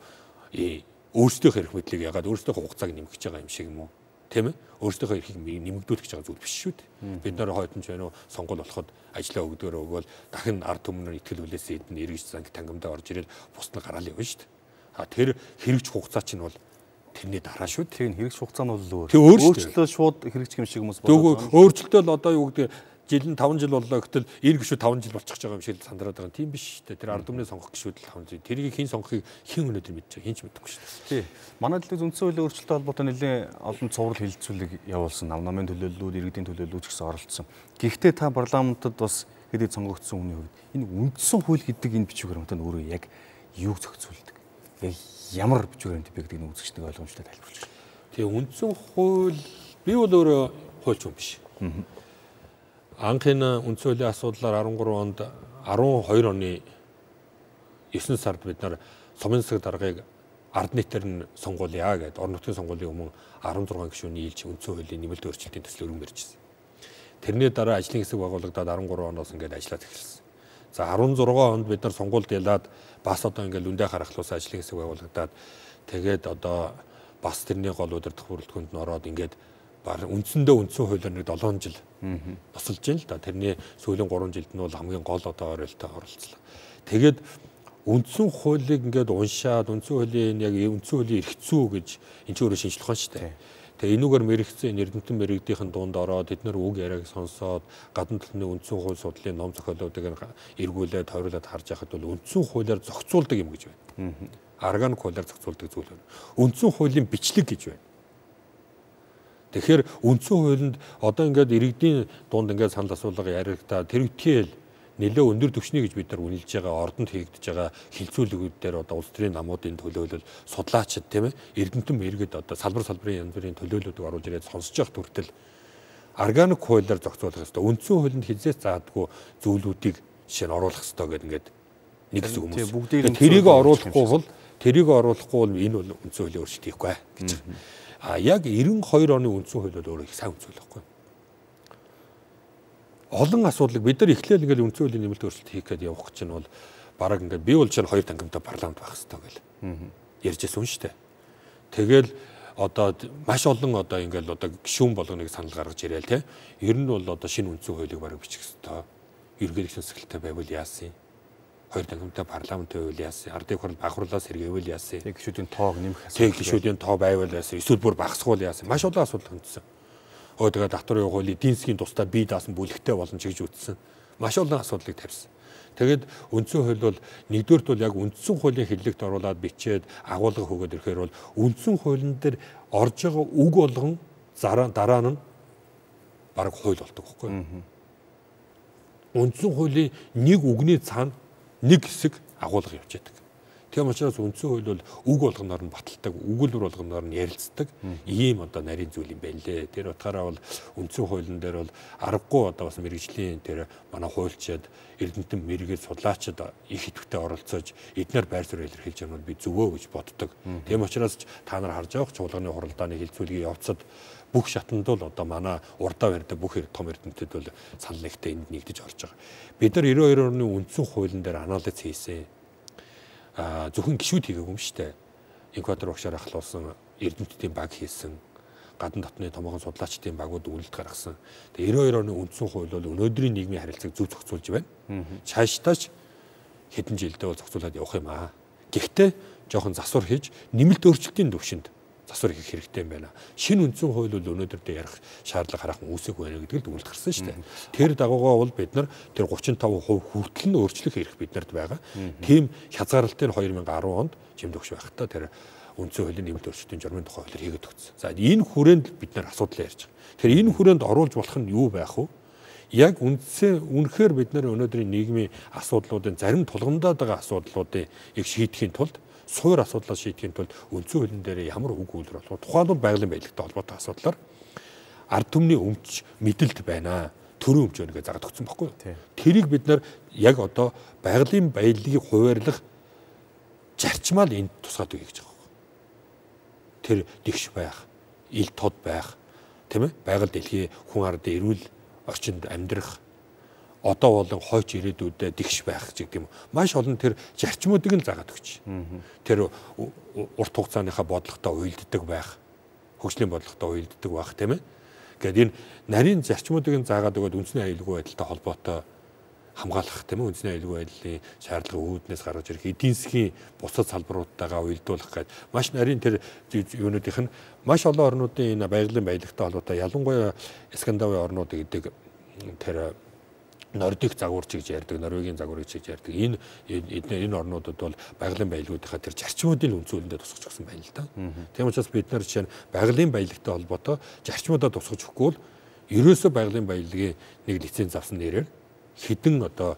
өөрсдийнхөө эрх мэдлийг ягаад өөрсдийнхөө хугацааг нэмгэж байгаа юм шиг юм уу? Тийм ээ? Өөрсдийнхөө эрхийг нэмэгдүүлэх гэж байгаа зүйл биш шүү дээ. Бид нар хойдон ч байна уу сонгол болоход ажлаа өгдөгөр өгвөл дахин ард түмнэр итгэл үлээсээ эдэн эргэж занг тангамдаа орж ирээд бусна гараал явна шүү дээ. Тэр хэрэгж хугацаа чинь бол тэрний дараа шүү дээ. Тийм хэрэгж хугацаа нь бол өөр. Өөрчлөлтөө шууд хэрэгжих юм шиг хүмүүс бодож байгаа. Өөрчлөлтөө л одоо юу гэдэг жил нь 5 жил боллоо гэтэл энэ гişүүд 5 жил болчих байгаа юм шиг сандраад байгаа. Тийм биш шүү дээ. Тэр ард түмний сонгох гişүүд л 5 жил. Тэрийг хэн сонгохыг хэн өнөөдөр мэдэж байгаа. Хэн ч мэдэхгүй шүү дээ. Тий. Манай дэлхийд үндсэн хуулийн өөрчлөлттэй холбоотой нэлээд олон цуврал хилцүүлэг явуулсан. Намын төлөөллүүд, иргэдийн төлөөллүүд ч гэсэн оролцсон. Гэхдээ та парламентод бас хэдий сонгогдсон хүний хувьд энэ үндсэн хууль гэдэг энэ бичвэр хамтаа өөрөө яг юуг зохицуулдаг? Яг ямар бичвэр юм бэ гэдэг нь үзэгчдийн ойлгомжтой тайлбарлаж байна. Тэгээ үндсэн хууль би бол өөрөө хуульч юм биш. Анхны үндсэн хуулийн асуудлаар 13 онд 12 оны 9 сард бид нар сумын засаг даргыг ард нийтээр нь сонгуулъя гэдэг орон нутгийн сонгуулийн өмнө 16 гишүүний нийлж үндсэн хуулийн нэмэлт өөрчлөлтийн төслөөр өргөн барьжсэн. Тэрний дараа ажлын хэсэг байгуулагдаад 13 оноос ингээд ажиллаад эхэлсэн. За 16 онд бид нар сонгуульд ялаад бас одоо ингээд лүндэ харахлуус ажлын хэсэг байгуулагдаад тэгээд одоо бас тэрний гол удирдах бүрэлдэхүүнд нь ороод ингээд үндсэндээ үндсэн хуулиар нэг 7 жил тусалж байна л да. Тэрний сүүлийн 3 жилд нь бол хамгийн гол одоо оролцоо оролцлоо. Тэгээд үндсэн хуулийг ингээд уншаад үндсэн хуулийн яг үндсэн хуулийн эрх зүй гэж энэ ч өөрөө шинжлэх ухаан шүү дээ. Тэгээ энүүгээр мэрэгцэн эрдэмтэн мэрэгдийнхэн дунд ороод эдгээр үг яриаг сонсоод гадна талны үндсэн хууль судлалын ном зохиолуудыг эргүүлээд тойруулаад харж байхад бол үндсэн хуулиар зохицуулдаг юм гэж байна. Органик хуулиар зохицуулдаг зүйл байна. Үндсэн хуулийн бичлэг гэж байна. Тэгэхээр үндсэн хуулинд одоо ингээд иргэдийн дунд ингээд санал асуулга яригдаа тэр үтгээл нэлээ өндөр түвшний гэж бид нар үнэлж байгаа ордонд хийгдэж байгаа хилцүүлгүүд дээр одоо улс төрийн намуудын төлөөлөл судлаачид тийм ээ эрдэмтэн мэргэд одоо салбарын янз бүрийн төлөөллүүдийг оруулж ирээд сонсож явах хүртэл органик хуулиар зохицуулах хэрэгтэй. Үндсэн хуулинд хязгаарч заадаггүй зүйлүүдийг жишээ нь оруулах хэрэгтэй гэдэг ингээд нэг хэсэг хүмүүс. Тэрийг оруулахгүй бол энэ бол үндсэн хуулийн өөрчлөлт хийхгүй гэж. Яг 92 оны үндсэн хууль бол өөрөө их сайн үндсэн хууль байхгүй. Олон асуудлыг бид нар эхлээл ингээд үндсэн хуулийн нэмэлт өөрчлөлт хийх гээд явах гэж нь бол бараг ингээд би бол чинь 2 тангамтай парламент байх хэрэгтэй гэл ярьжсэн шүү дээ. Тэгэл одоо маш олон одоо ингээд одоо гишүүн болгоныг санал гаргаж ирээл те. Ер нь бол одоо шинэ үндсэн хуулийг бараг бичих хэрэгтэй. Ерөнхийлөгчийн засаглалтай байвал яасан? 2 тангамтай парламентын байвал яасан? Ардын хурал бахруулаас сэргээвэл яасан? Тэг гишүүдийн тоог нэмэх асуудал. Тэг гишүүдийн тоо байвал яасан? Эсвэл бүр багасгуул яасан? Маш олон асуудал хөндсөн. Тэгээд татварын хуулийн эдийн засгийн тусдаа бие даасан бүлэгтэй болно ч гэж үзсэн. Маш олон асуудлыг тавьсан. Тэгээд үндсэн хууль бол нэгдүгээрт бол яг үндсэн хуулийн хэллэгт оруулаад бичээд агуулга өгөөд ирэхээр бол үндсэн хуулийн дээр орж байгаа үг болгон дараа нь бараг хууль болдог байхгүй юу? Үндсэн хуулийн нэг үгний цаана нэг хэсэг агуулга явж байдаг. Тийм учраас үндсэн хууль бол үг болгоноор нь баталдаг, өгүүлбэр болгоноор нь ярилцдаг ийм одоо нарийн зүйл юм байна лээ. Тэр утгаараа бол үндсэн хуулийн дээр бол аргагүй одоо бас мэрэгжлийн тэр манай хуульчид, эрдэмтэн мэрэгэл судлаачид их идэвхтэй оролцож эднэр байр суурь илэрхийлж байгаа нь би зөвөө гэж боддог. Тийм учраас та нар харж байгаа чуулганы хуралдааны хилцүүлгийн явцад бүх шатанд бол одоо манай урдаа барьдаг бүх том эрдэмтэд бол санал нэгтэй энд нэгдэж орж байгаа. Бид нар 92 оны үндсэн хуулийн дээр анализ хийсэн. Зөвхөн гишүүд хийгээгүй юм шүү дээ. Эквадор багшаар ахлуулсан эрдэмтдийн баг хийсэн. Гадна дотны томоохон судлаачдын багууд үйлдэл гаргасан. Тэгээ 92 оны үндсэн хууль бол өнөөдрийн нийгмийн харилцааг зөв зохицуулж байна. Цаашдаач хэдэн жилдээ бол зохицуулаад явах юм аа. Гэхдээ жоохон засвар хийж нэмэлт өөрчлөлтийн төвшөнд засвар хийх хэрэгтэй юм байна. Шинэ үндсэн хууль бол өнөөдөр дээр ярих шаардлага хараахан үүсэхгүй байна гэдгийг дүгнэлт гарсан шүү дээ. Тэр дагуугаа бол бид нар тэр 35% хүртэл нь өөрчлөх эрх биднэрт байгаа. Тийм хязгаарлалтыг 2010 онд жимдөгч байхдаа тэр үндсэн хуулийн нэмэлт өөрчлөлтийн журмын тухай хуулиар хийгээд өгсөн. За энэ хүрээнд бид нар асуудал ярьж байгаа. Тэгэхээр энэ хүрээнд оруулж болох нь юу байх вэ? Яг үнэхээр бид нар өнөөдрийн нийгмийн асуудлуудын зарим тулгамдаад байгаа асуудлуудыг шийдэхийн тулд суур асуудлаа шийдэхийн тулд үндсэн хуулийн дээр ямар үг үйлрэл болох тухайн бол байгалийн баялагтай холбоотой асуудлаар ард түмний өмч мэдэлт байна. Төрийн өмч өнөөгөө заргад өгсөн баггүй. Тэрийг бид нар яг одоо байгалийн баялагийг хуваарлах зарчмаар энд тусгаад өгье гэж байгаа. Тэр дэгш байх, ил тод байх, тийм ээ? Байгаль дэлхий хүн ардын эрүүл орчинд амьдрах одоо болон хойч ирээдүйдээ дэгш байх гэдэг юм. Маш олон тэр зарчмуудыг нь заагаад өгч. Тэр урт хугацааныхаа бодлоготой уялддаг байх, хөгжлийн бодлоготой уялддаг байх тийм ээ. Гэвь энэ нарийн зарчмуудыг нь заагаад өгөөд үндэсний аюулгүй байдалтай холбоотой хамгаалах тийм ээ. Үндэсний аюулгүй байдлын шаардлага үүднээс гаргаж ирэх эдийн засгийн бусад салбаруудтайгаа уялдуулах гэдэг маш нарийн тэр юунуудынх нь маш олон орнуудын энэ байгалийн баялагтай холбоотой ялангуяа Скандинавын орнууд гэдэг тэр Нордик загварч гэж ярьдаг, Норвегийн загварч гэж ярьдаг. Энэ орнуудад бол байгалийн баялагуудынхаа тэр зарчмуудын үнцүүлэндээ тусгаж өгсөн байна л да. Тийм учраас бид нар жишээ нь байгалийн баялагтай холбоотой зарчмуудаа тусгаж өгөхгүй бол ерөөсөө байгалийн баялагын нэг лиценз авсан нэрээр хэдэн одоо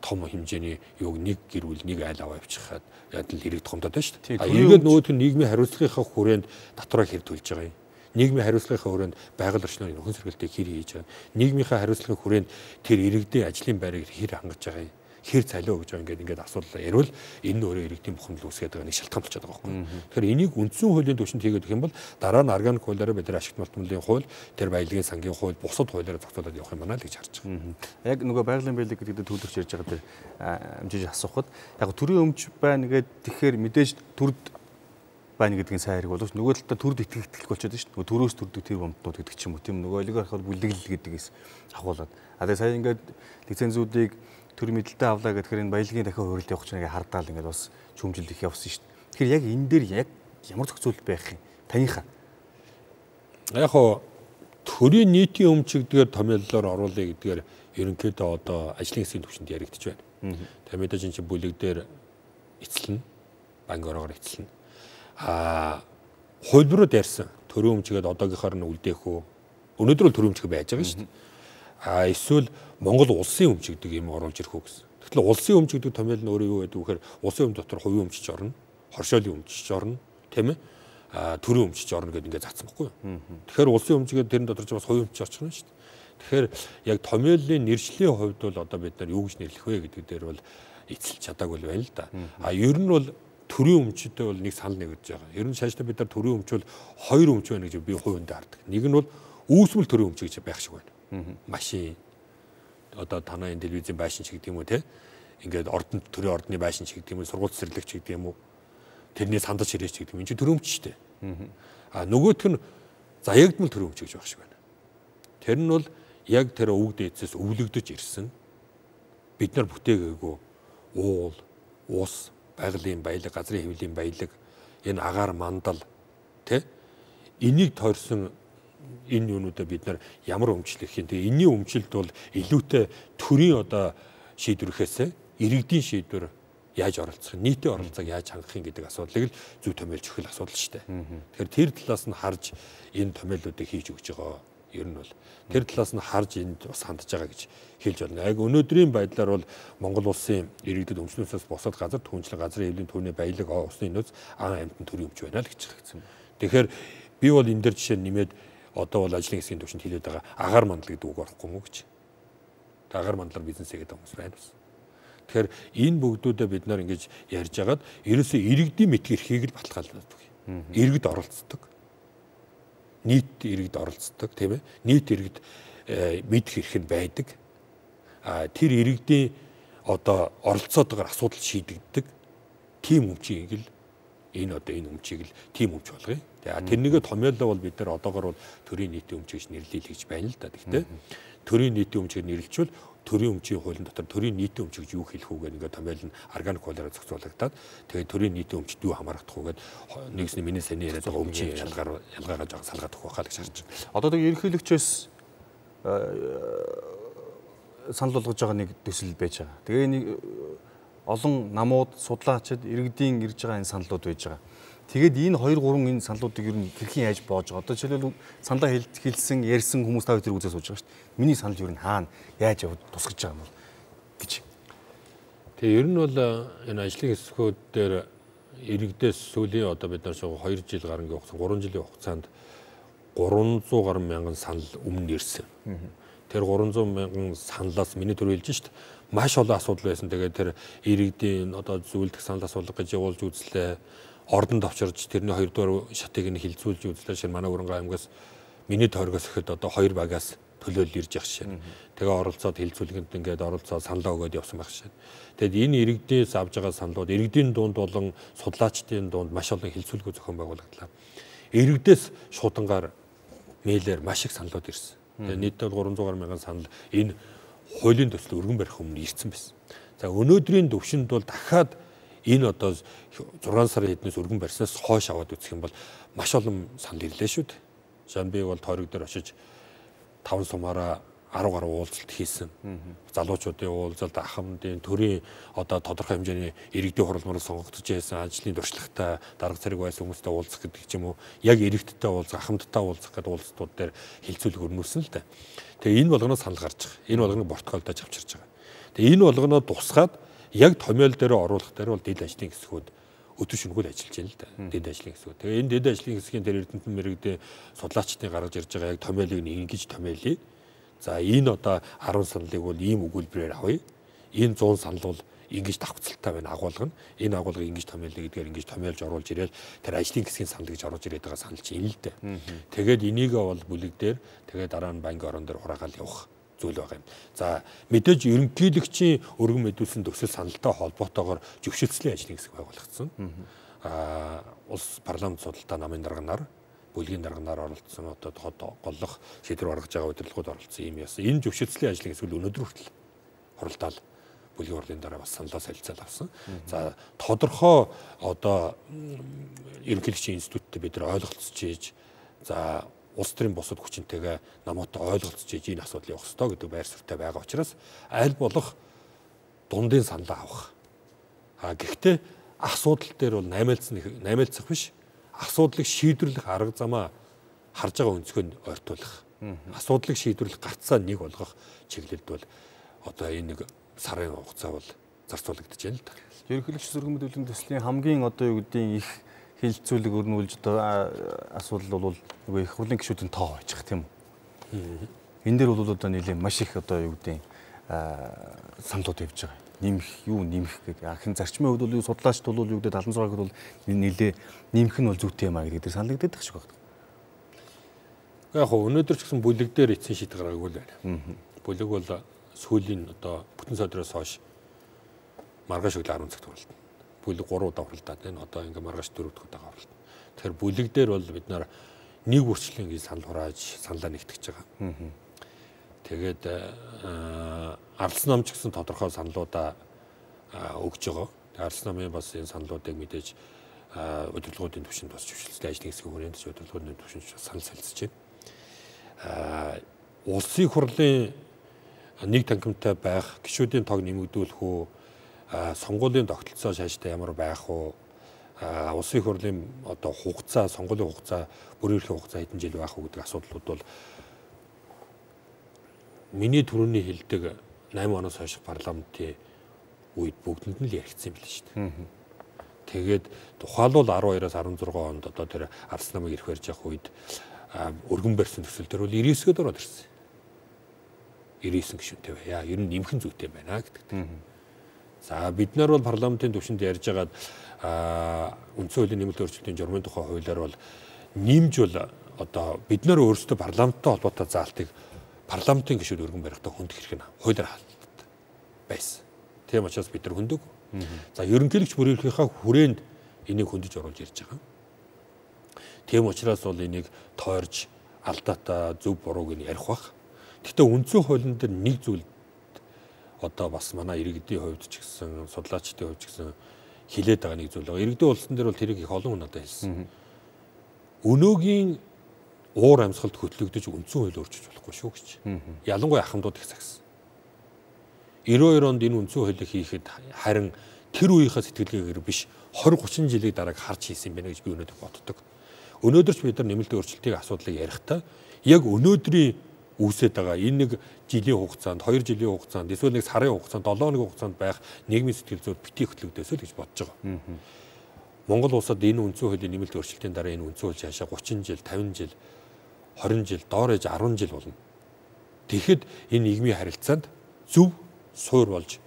том хэмжээний юуг нэг гэрүүл нэг айл аваа явчихад ядал хэрэг томдоод байна шүү дээ. Ингээд нөгөөт нь нийгмийн хариуцлагынхаа хүрээнд дотроо хэр төлж байгаа юм. Нийгмийн хариуцлагын хүрээнд байгаль орчноор нөхөн сэргэлтийг хэр хийж байгаа. Нийгмийнхаа хариуцлагын хүрээнд тэр иргэдийн ажлын байрыг хэр хангаж байгаа юм. хэр цалиу гэж ингээд асуулаа ярил энэ нь өөрөө иргэдийн бухимдал үүсгээд байгаа нэг шалтгаан болчиход байгаа байхгүй. Тэгэхээр энийг үндсэн хуулийн түвшинд хийгээд өгөх юм бол дараа нь органик хуулиараа бид нар ашигт малтмлын хууль, тэр баялагын сангийн хууль, бусад хуулиараа зохицуулаад явах юм байна л гэж харж байгаа. Яг нөгөө байгалийн баялаг гэдэг төлөвлөж ярьж байгаа дээр амжиж асуухад яг төрийн өмч байна гэдэг тэгэхээр мэдээж төрд байна гэдгийн сайн хэрэг боловч нөгөө талдаа төрд итгэх болчиход шүү дээ. Нөгөө төрөөс төрдөг тэр бомтнууд гэдэг ч юм уу тийм нөгөө олигархууд бүлэглэл гэдгээс ахуулаад. Тэгээ сая ингээд лицензүүдийг төр мэдлэлтэй авлаа гэхээр энэ баялагын дахин хуурилт явах чинь ингээд хардаал ингээд бас чөмжил их явсан шүү дээ. Тэгэхээр яг энэ дээр яг ямар зохицуул байх юм? Танийхаа. Яг хоо төрийн нийтийн өмчигдгээр томьёоллоор оруулъя гэдгээр ерөнхийдөө одоо ажлын хэсгийн түвшинд яригдчих байна. Тэгээ мэдээж энэ чинь бүлэг дээр эцэлнэ. Банк орогоор эцэлнэ. Хуулбарууд ярьсан төрийн өмчгээд одоогийнхоор нь үлдээх үү? Өнөөдөр бол төрийн өмчг байж байгаа шүү дээ. Эсвэл Монгол улсын өмчигдэг юм оруулж ирэх үү гэсэн. Тэгэхээр улсын өмчигдэг томьёол нь өөрөө юу гэдэг вэ гэхээр улсын өмч дотор хувийн өмчиж орно, хоршоолын өмчиж орно, тийм ээ? Төрийн өмчиж орно гэдэг ингээд заасан байхгүй юу? Тэгэхээр улсын өмчгээд тэрэн дотор ч бас хувийн өмчиж орчихно шүү дээ. Тэгэхээр яг томьёолын нэршлийн хувьд бол одоо бид нар юу гэж нэрлэх вэ гэдэг дээр бол эцэлж чадаагүй л байна л да. Ер нь бол төрийн өмчөдөө бол нэг санал нэгдэж байгаа. Ер нь шааштай бид нар төрийн өмч бол хоёр өмч байна гэж би хувьд хардаг. Нэг нь бол үүсмэл төрийн өмч гэж байх шиг байна. Машин одоо танай телевизийн байшин ч гэдэг юм уу те. Ингээд төрийн ордны байшин ч гэдэг юм уу, сургууль цэцэрлэгч гэдэг юм уу. Тэрний сандаж ирээч гэдэг юм. Энэ чинь төрийн өмч шүү дээ. Нөгөөх нь заягдмал төрийн өмч гэж байх шиг байна. Тэр нь бол яг тэр өвөг дээдсээс өвлөгдөж ирсэн. Бид нар бүтээгээгүй уул, ус, байгалийн баялаг, газрын хэвлэлийн баялаг, энэ агаар мандал тэ энийг тойрсон энэ юунуудаа бид нар ямар өмчлөх юм. Тэгээ энэний өмчлөлд бол илүүтэй төрийн одоо шийдвэрхээс иргэдийн шийдвэр яаж оролцох, нийтийн оролцоог яаж хангах юм гэдэг асуудлыг л зөв томьёолж өгөх асуудал шүү дээ. Тэгэхээр тэр талаас нь харж энэ томьёолуудыг хийж өгч байгаа. Ер нь бол тэр талаас нь харж энд бас хандж байгаа гэж хэлж байна. Яг өнөөдрийн байдлаар бол Монгол улсын иргэдэд өмчлөөсөөс босоод газар түнчлэн газрын хэвлэлийн түүний баялаг усны нөөц амтан төрийн өмч байна л гэж хэлсэн. Тэгэхээр би бол энэ дээр жишээ нэмээд одоо бол ажлын хэсгийн түвшинд хэлээд байгаа агаар мандал гэдэг үг орохгүй мó гэж. Агаар мандлаар бизнес хийгээд байгаа хүмүүс байна бас. Тэгэхээр энэ бүгдүүдээ бид нар ингэж ярьж хагаад ерөөсөө иргэдийн мэдх эрхийг л баталгаажуулдаг. Иргэд оролцдог. Нийт иргэд оролцдог тийм ээ. Нийт иргэд мэдх эрх нь байдаг. Тэр иргэдийн одоо оролцоотойгоор асуудал шийдэгддэг. Тим өмчийг л энэ өмчийг л тим өмч болгоё. Тэрнийгээ томьёолоо бол бид нар одоогоор бол төрийн нийтийн өмч гэж нэрлэе гэж байна л да. Гэхдээ төрийн нийтийн өмчийг нэрлэлчвэл төрийн өмчийн хуулийн дотор төрийн нийтийн өмч гэж юу хэлэх үү гэдэг ингээд томьёол нь органик хуулиараа зохицуулагдаад тэгээд төрийн нийтийн өмчд юу хамаарах уу гэдэг нэгсний миний саний яриад байгаа өмчийн ялгаагаа жоо салгаад өгөх байхаа гэж харж байна. Одоо тэг ерөнхийлөгчөөс санал болгож байгаа нэг төсөл байж байгаа. Тэгээ нэг олон намууд судлаачид иргэдийн ирж байгаа энэ саналууд байж байгаа. Тэгээд энэ 2 3 энэ саналуудыг ер нь хэрхэн яаж боож байгаа. Одоо жишээлбэл саналаа хэлсэн, ярьсан хүмүүс та хоёр үзээ сууж байгаа шүү дээ. Миний санал ер нь хаана яаж явд тусгаж байгаа юм бол гэж. Тэгээ ер нь бол энэ ажлын хэсгүүд дээр иргэдээс сүүлийн одоо бид нар 2 жил гарангийн хугацаанд 3 жилийн хугацаанд 300 гаруй мянган санал өмнө ирсэн. Тэр 300 мянган саналаас миний төр хэлж шүү дээ. Маш олон асуудал байсан. Тэгээд тэр иргэдийн одоо зөвлөдөх санал асуулга гэж явуулж үзлээ. Ордонд авчирж тэрний 2 дугаар шатыг нь хилцүүлж үзлээ. Шинэ манай Өрөнгө аймгаас миний тойргоос ихэд одоо 2 багаас төлөөлөл ирж явах шин. Тэгээ оролцоод хилцүүлгэнд ингээд оролцоод саналаа өгөөд явсан байх шин. Тэгэд энэ иргэдээс авж байгаа саналууд иргэдийн дунд болон судлаачдын дунд маш олон хилцүүлгөө зохион байгуулагдлаа. Иргэдээс шуудангаар мэйлээр маш их саналууд ирсэн. Тэгээ нийтдээ 300 гаруй мянган санал энэ хуулийн төсөл өргөн барих өмнө ирсэн байсан. За өнөөдрийн төвшөнд бол дахиад энэ одоо 6 сарын хэднээс өргөн барьснаас хойш аваад үзэх юм бол маш олон санал ирлээ шүү дээ. Жан би бол тойрог дээр очиж 5 сумаараа 10 гаруй уулзалт хийсэн. Залуучуудын уулзалт, ахмадын төрийн одоо тодорхой хэмжээний иргэдийн хуралмаар сонгогдож байсан ажлын туршлагатай дарга зэрэг байсан хүмүүстэй уулзах гэдэг ч юм уу. Яг иргэдтэй уулзах, ахмадтай уулзах гэдэг уулзалтууд дээр хилцүүлэг өрнүүлсэн л дээ. Тэгээ энэ болгоноос санал гарч байгаа. Энэ болгоныг портфолиодож авчирч байгаа. Тэгээ энэ болгоноо тусгаад яг томьёол дээр оруулах дээр бол дэд ажлын хэсгүүд өдөр шөнөгүй ажиллаж байна л да. Дэд ажлын хэсгүүд. Тэгээ энэ дэд ажлын хэсгийн дээр Эрдэнэтэн мэрэгдээ судлаачдын гаргаж ирж байгаа яг томьёолыг ингэж томьёолъя. За энэ одоо 10 саналыг бол ийм өгүүлбэрээр авъя. энэ 100 санал бол ингэж давхцалтай байна агуулга нь. Энэ агуулгыг ингэж томьёолно гэдгээр ингэж томьёолж оруулж ирээл тэр ажлын хэсгийн санал гэж оруулж ирээд байгаа санал чинь л дээ. Тэгээд энийгээ бол бүлэг дээр тэгээд дараа нь банкны орон дээр хураагаал явах зүйл байгаа юм. За мэдээж ерөнхийлөгчийн өргөн мэдүүлсэн төсөл саналтай холбоотойгоор зөвшөөрлөлийн ажлын хэсэг байгуулагдсан. Улс парламент судалтай намын дарганаар бүлгийн дарганаар оролцсон одоо голлох шийдвэр гаргаж байгаа удирдлагууд оролцсон юм яасан. Энэ зөвшөөрлөлийн ажлын хэсэг өнөөдөр хүртэл хуралдаал бүлгийн хурлын дараа бас саналаа солилцоод авсан. За тодорхой одоо ерөнхийлөгчийн институттэй бид нар ойлголцож ийж за улс төрийн бусад хүчинтэйгээ намуутай ойлголцож ийж энэ асуудал явах ёстой гэдэг байр суурьтай байгаа учраас аль болох дундын саналаа авах. Гэхдээ асуудал дээр бол наймаалцах биш. Асуудлыг шийдвэрлэх арга замаа харж байгаа өнцгөөнд ойртуулах. Асуудлыг шийдвэрлэх гарцаа нэг болгох чиглэлд бол одоо энэ нэг сарын хугацаа бол зарцуулагдаж байна л да. Ерөнхийлөгч зөргөн мэдүүллийн төслийн хамгийн одоо юу гэдгийг их хилцүүлэг өрнүүлж одоо асуудал бол нөгөө их хурлын гишүүдийн тоо байчих тийм үү. Энэ дээр бол одоо нийлээ маш их одоо юу гэдгийг саналууд явж байгаа. Нэмэх гэдэг. Ахин зарчмын хувьд бол судлаачд бол юу гэдэг 76-д бол нийлээ нэмэх нь бол зүйтэй юм а гэдэг дээр саналагддаг шиг байна. Яг хөө өнөөдөр ч гэсэн бүлэг дээр эцсийн шийдэл гаргаагүй л байна. Бүлэг бол сүүлийн одоо бүтэн содроос хойш маргааш өглөө 10 цагт хуралдана. Бүлэг 3 удаа хуралдаад байна. Одоо ингээ маргааш 4 дахь удаа хуралдана. Тэгэхээр бүлэг дээр бол бид нар нэг үрчлэн ингэ санал хурааж саналаа нэгтгэж байгаа. Тэгээд ардс нам ч гэсэн тодорхой саналуудаа өгж байгаа. Ардс намын бас энэ саналуудыг мэдээж удирдлагуудын түвшинд бас зөвшөөрлөлийн ажлын хэсгийн хүрээнд удирдлагуудын түвшинд санал солилцож байна. Улсын хурлын нэг танхимтай байх, гишүүдийн тоог нэмэгдүүлэх үү, сонгуулийн тогтолцоо шааштай ямар байх уу, улсын хурлын одоо хугацаа, сонгуулийн хугацаа, бүрийн эрхийн хугацаа хэдэн жил байх уу гэдэг асуудлууд бол миний түрүүний хэлдэг 8 оноос хойш парламентын үед бүгдэнд нь л яригдсан юм байна шүү дээ. Тэгээд тухайлбал 12-аас 16 онд одоо тэр ардс намыг ирэх барьж явах үед өргөн барьсан төсөл төр бол 99-д ороод ирсэн. 99 гишүүнтэй байя. Ер нь нэмэх нь зүйтэй байна гэдэг. За бид нар бол парламентын түвшинд ярьж байгаад үндсэн хуулийн нэмэлт өөрчлөлтийн журмын тухай хуулиар бол нэмж бол одоо бид нар өөрсдөө парламенттай холбоотой заалтыг парламентын гишүүд өргөн барихтаа хүндэх хэрэг нь хуулиар хаалт байсан. Тийм учраас бид нар хөндөг. За ерөнхийлөгч бүрийн эрхийнхаа хүрээнд энийг хөндөж оруулж ирж байгаа. Тийм учраас бол энийг тойрж алдаатай зөв бурууг нь ярих бах. Гэхдээ үндсэн хуулийн дээр нэг зүйл одоо бас манай иргэдийн хувьд ч гэсэн судлаачдын хувьд ч гэсэн хилээд байгаа нэг зүйл байгаа. Иргэдийн улсын дээр бол тэрийг их олон хүн надад хэлсэн. Өнөөгийн уур амьсгалд хөтлөгдөж үндсэн хууль өөрчилж болохгүй шүү гэж. Ялангуяа ахмадууд их загсан. 92 онд энэ үндсэн хуулийг хийхэд харин тэр үеийнхээ сэтгэлгээгээр биш 20-30 жилийн дараа харж хийсэн юм байна гэж би өнөөдөр боддог. Өнөөдөр ч бид нар нэмэлт өөрчлөлтийн асуудлыг ярихдаа яг өнөөдрийн үүсээд байгаа энэ нэг жилийн хугацаанд 2 жилийн хугацаанд эсвэл нэг сарын хугацаанд 7 хоногийн хугацаанд байх нийгмийн сэтгэл зүйд битгий хөтлөгдөөсөө л гэж бодож байгаа. Монгол улсад энэ үндсэн хуулийн нэмэлт өөрчлөлтийн дараа энэ үндсэн хууль хаашаа 30 жил, 50 жил, 20 жил, доор ээж 10 жил болно. Тэгэхэд энэ нийгмийн харилцаанд зөв суур болж,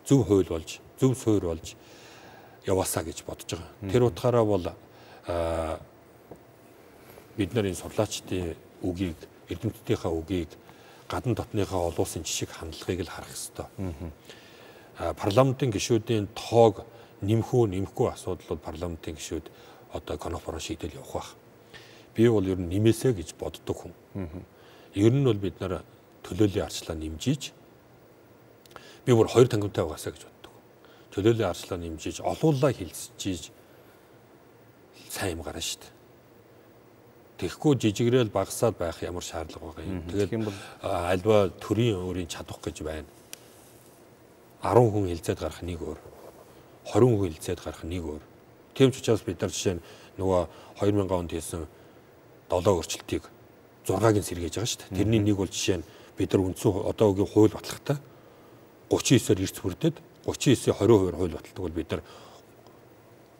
зөв хууль болж, зөв суур болж яваасаа гэж бодож байгаа. Тэр утгаараа бол бид нар энэ сурлаачдын үгийг эрдэмтдийнхаа үгийг гадна дотныхаа олон улсын жишг хандлагыг л харах ёстой. Парламентын гишүүдийн тоог нэмэхгүй асуудал бол парламентын гишүүд одоо конференц шийдэл явах байх. Би бол ер нь нэмээсэ гэж боддог хүн. Ер нь бол бид нар төлөөллийн арчлаа нэмжиж би бүр хоёр тангамтай байгаасаа гэж боддог. Төлөөллийн арчлаа нэмжиж олуулаа хилцэж сайн юм гарна шүү дээ. Тэгэхгүй жижигрээл багасаад байх ямар шаардлага байгаа юм. Тэгээд альва төрийн өөрийн чадах гэж байна. 10 хүн хилцээд гарах нэг өөр. 20 хүн хилцээд гарах нэг өөр. Тийм ч учраас бид нар жишээ нь нөгөө 2000 онд хийсэн 7 өөрчлөлтийг 6-ыг нь сэргээж байгаа шүү дээ. Тэрний нэг бол жишээ нь бид нар үндсэн одоогийн хууль батлагтай 39-оор эрс бүрдээд 39-ийн 20% хууль баталдаг бол бид нар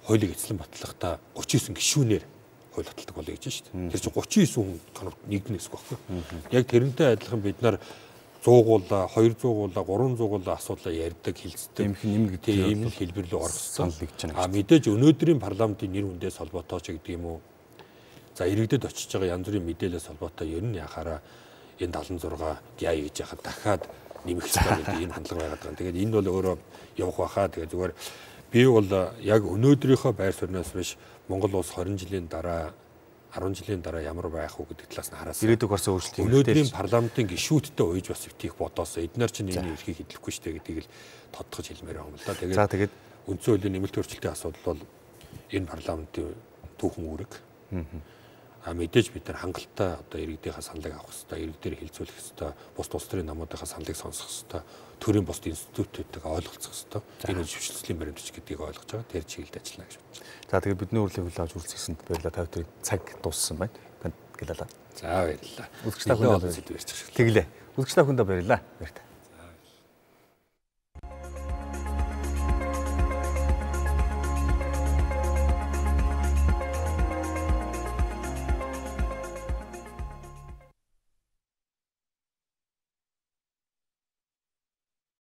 хуулийг эзлэн батлахдаа 39 гишүүнээр хууль баталдаг болъё гэж шүү дээ. Тэр чинь 39 хүн конфликт нэгднэ гэсэн үг байхгүй. Яг тэрнтэй адилхан бид нар 100-уулаа, 200-уулаа, 300-уулаа асуудлаа ярьдаг, хилцдэг. Тийм их нэм гэдэг ийм л хэлбэр рүү орох санал нэгж байна. Мэдээж өнөөдрийн парламентын нэр хүндээс холбоотой ч гэдэг юм уу. За иргэдэд очиж байгаа янз бүрийн мэдээлэлээс холбоотой ер нь яхаараа энэ 76 гяа гэж яхад дахиад нэмэх хэрэгтэй гэдэг энэ хандлага байгаад байгаа. Тэгээд энэ бол өөрөө явах байхаа. Тэгээд зүгээр би бол яг өнөөдрийнхөө байр сууриас биш Монгол улс 20 жилийн дараа 10 жилийн дараа ямар байх вэ гэдэг талаас нь хараас ирээдүйг орсон өөрчлөлт өнөөдрийн парламентын гишүүдтэй ууж бас өвтих бодоосоо эднэр чинь энэ эрхийг хэдлэхгүй шүү дээ гэдгийг л тодтогч хэлмээр байгаа юм л да. Тэгээд үндсэн хуулийн нэмэлт өөрчлөлтийн асуудал бол энэ парламентын түүхэн үүрэг. Мэдээж бид нар хангалттай одоо иргэдийнхээ саналыг авах хэрэгтэй, иргэдээр хилцүүлэх хэрэгтэй, бус улс төрийн намуудынхаа саналыг сонсох хэрэгтэй, төрийн бусд институтуудтайгаа ойлголцох хэрэгтэй. Энэ зөвшөөрлөлийн баримтч гэдгийг ойлгож байгаа. Тэр чиглэлд ажиллана гэж бодож байна. За тэгээд бидний урилгыг хүлээж авч үргэлжлүүлсэнд баярлалаа. Та бүхэн цаг дууссан байна. Танд гэлээ. За баярлалаа. Үзэгч та бүхэнд баярлалаа. Тэглээ. Үзэгч та бүхэнд баярлалаа. Баярлалаа.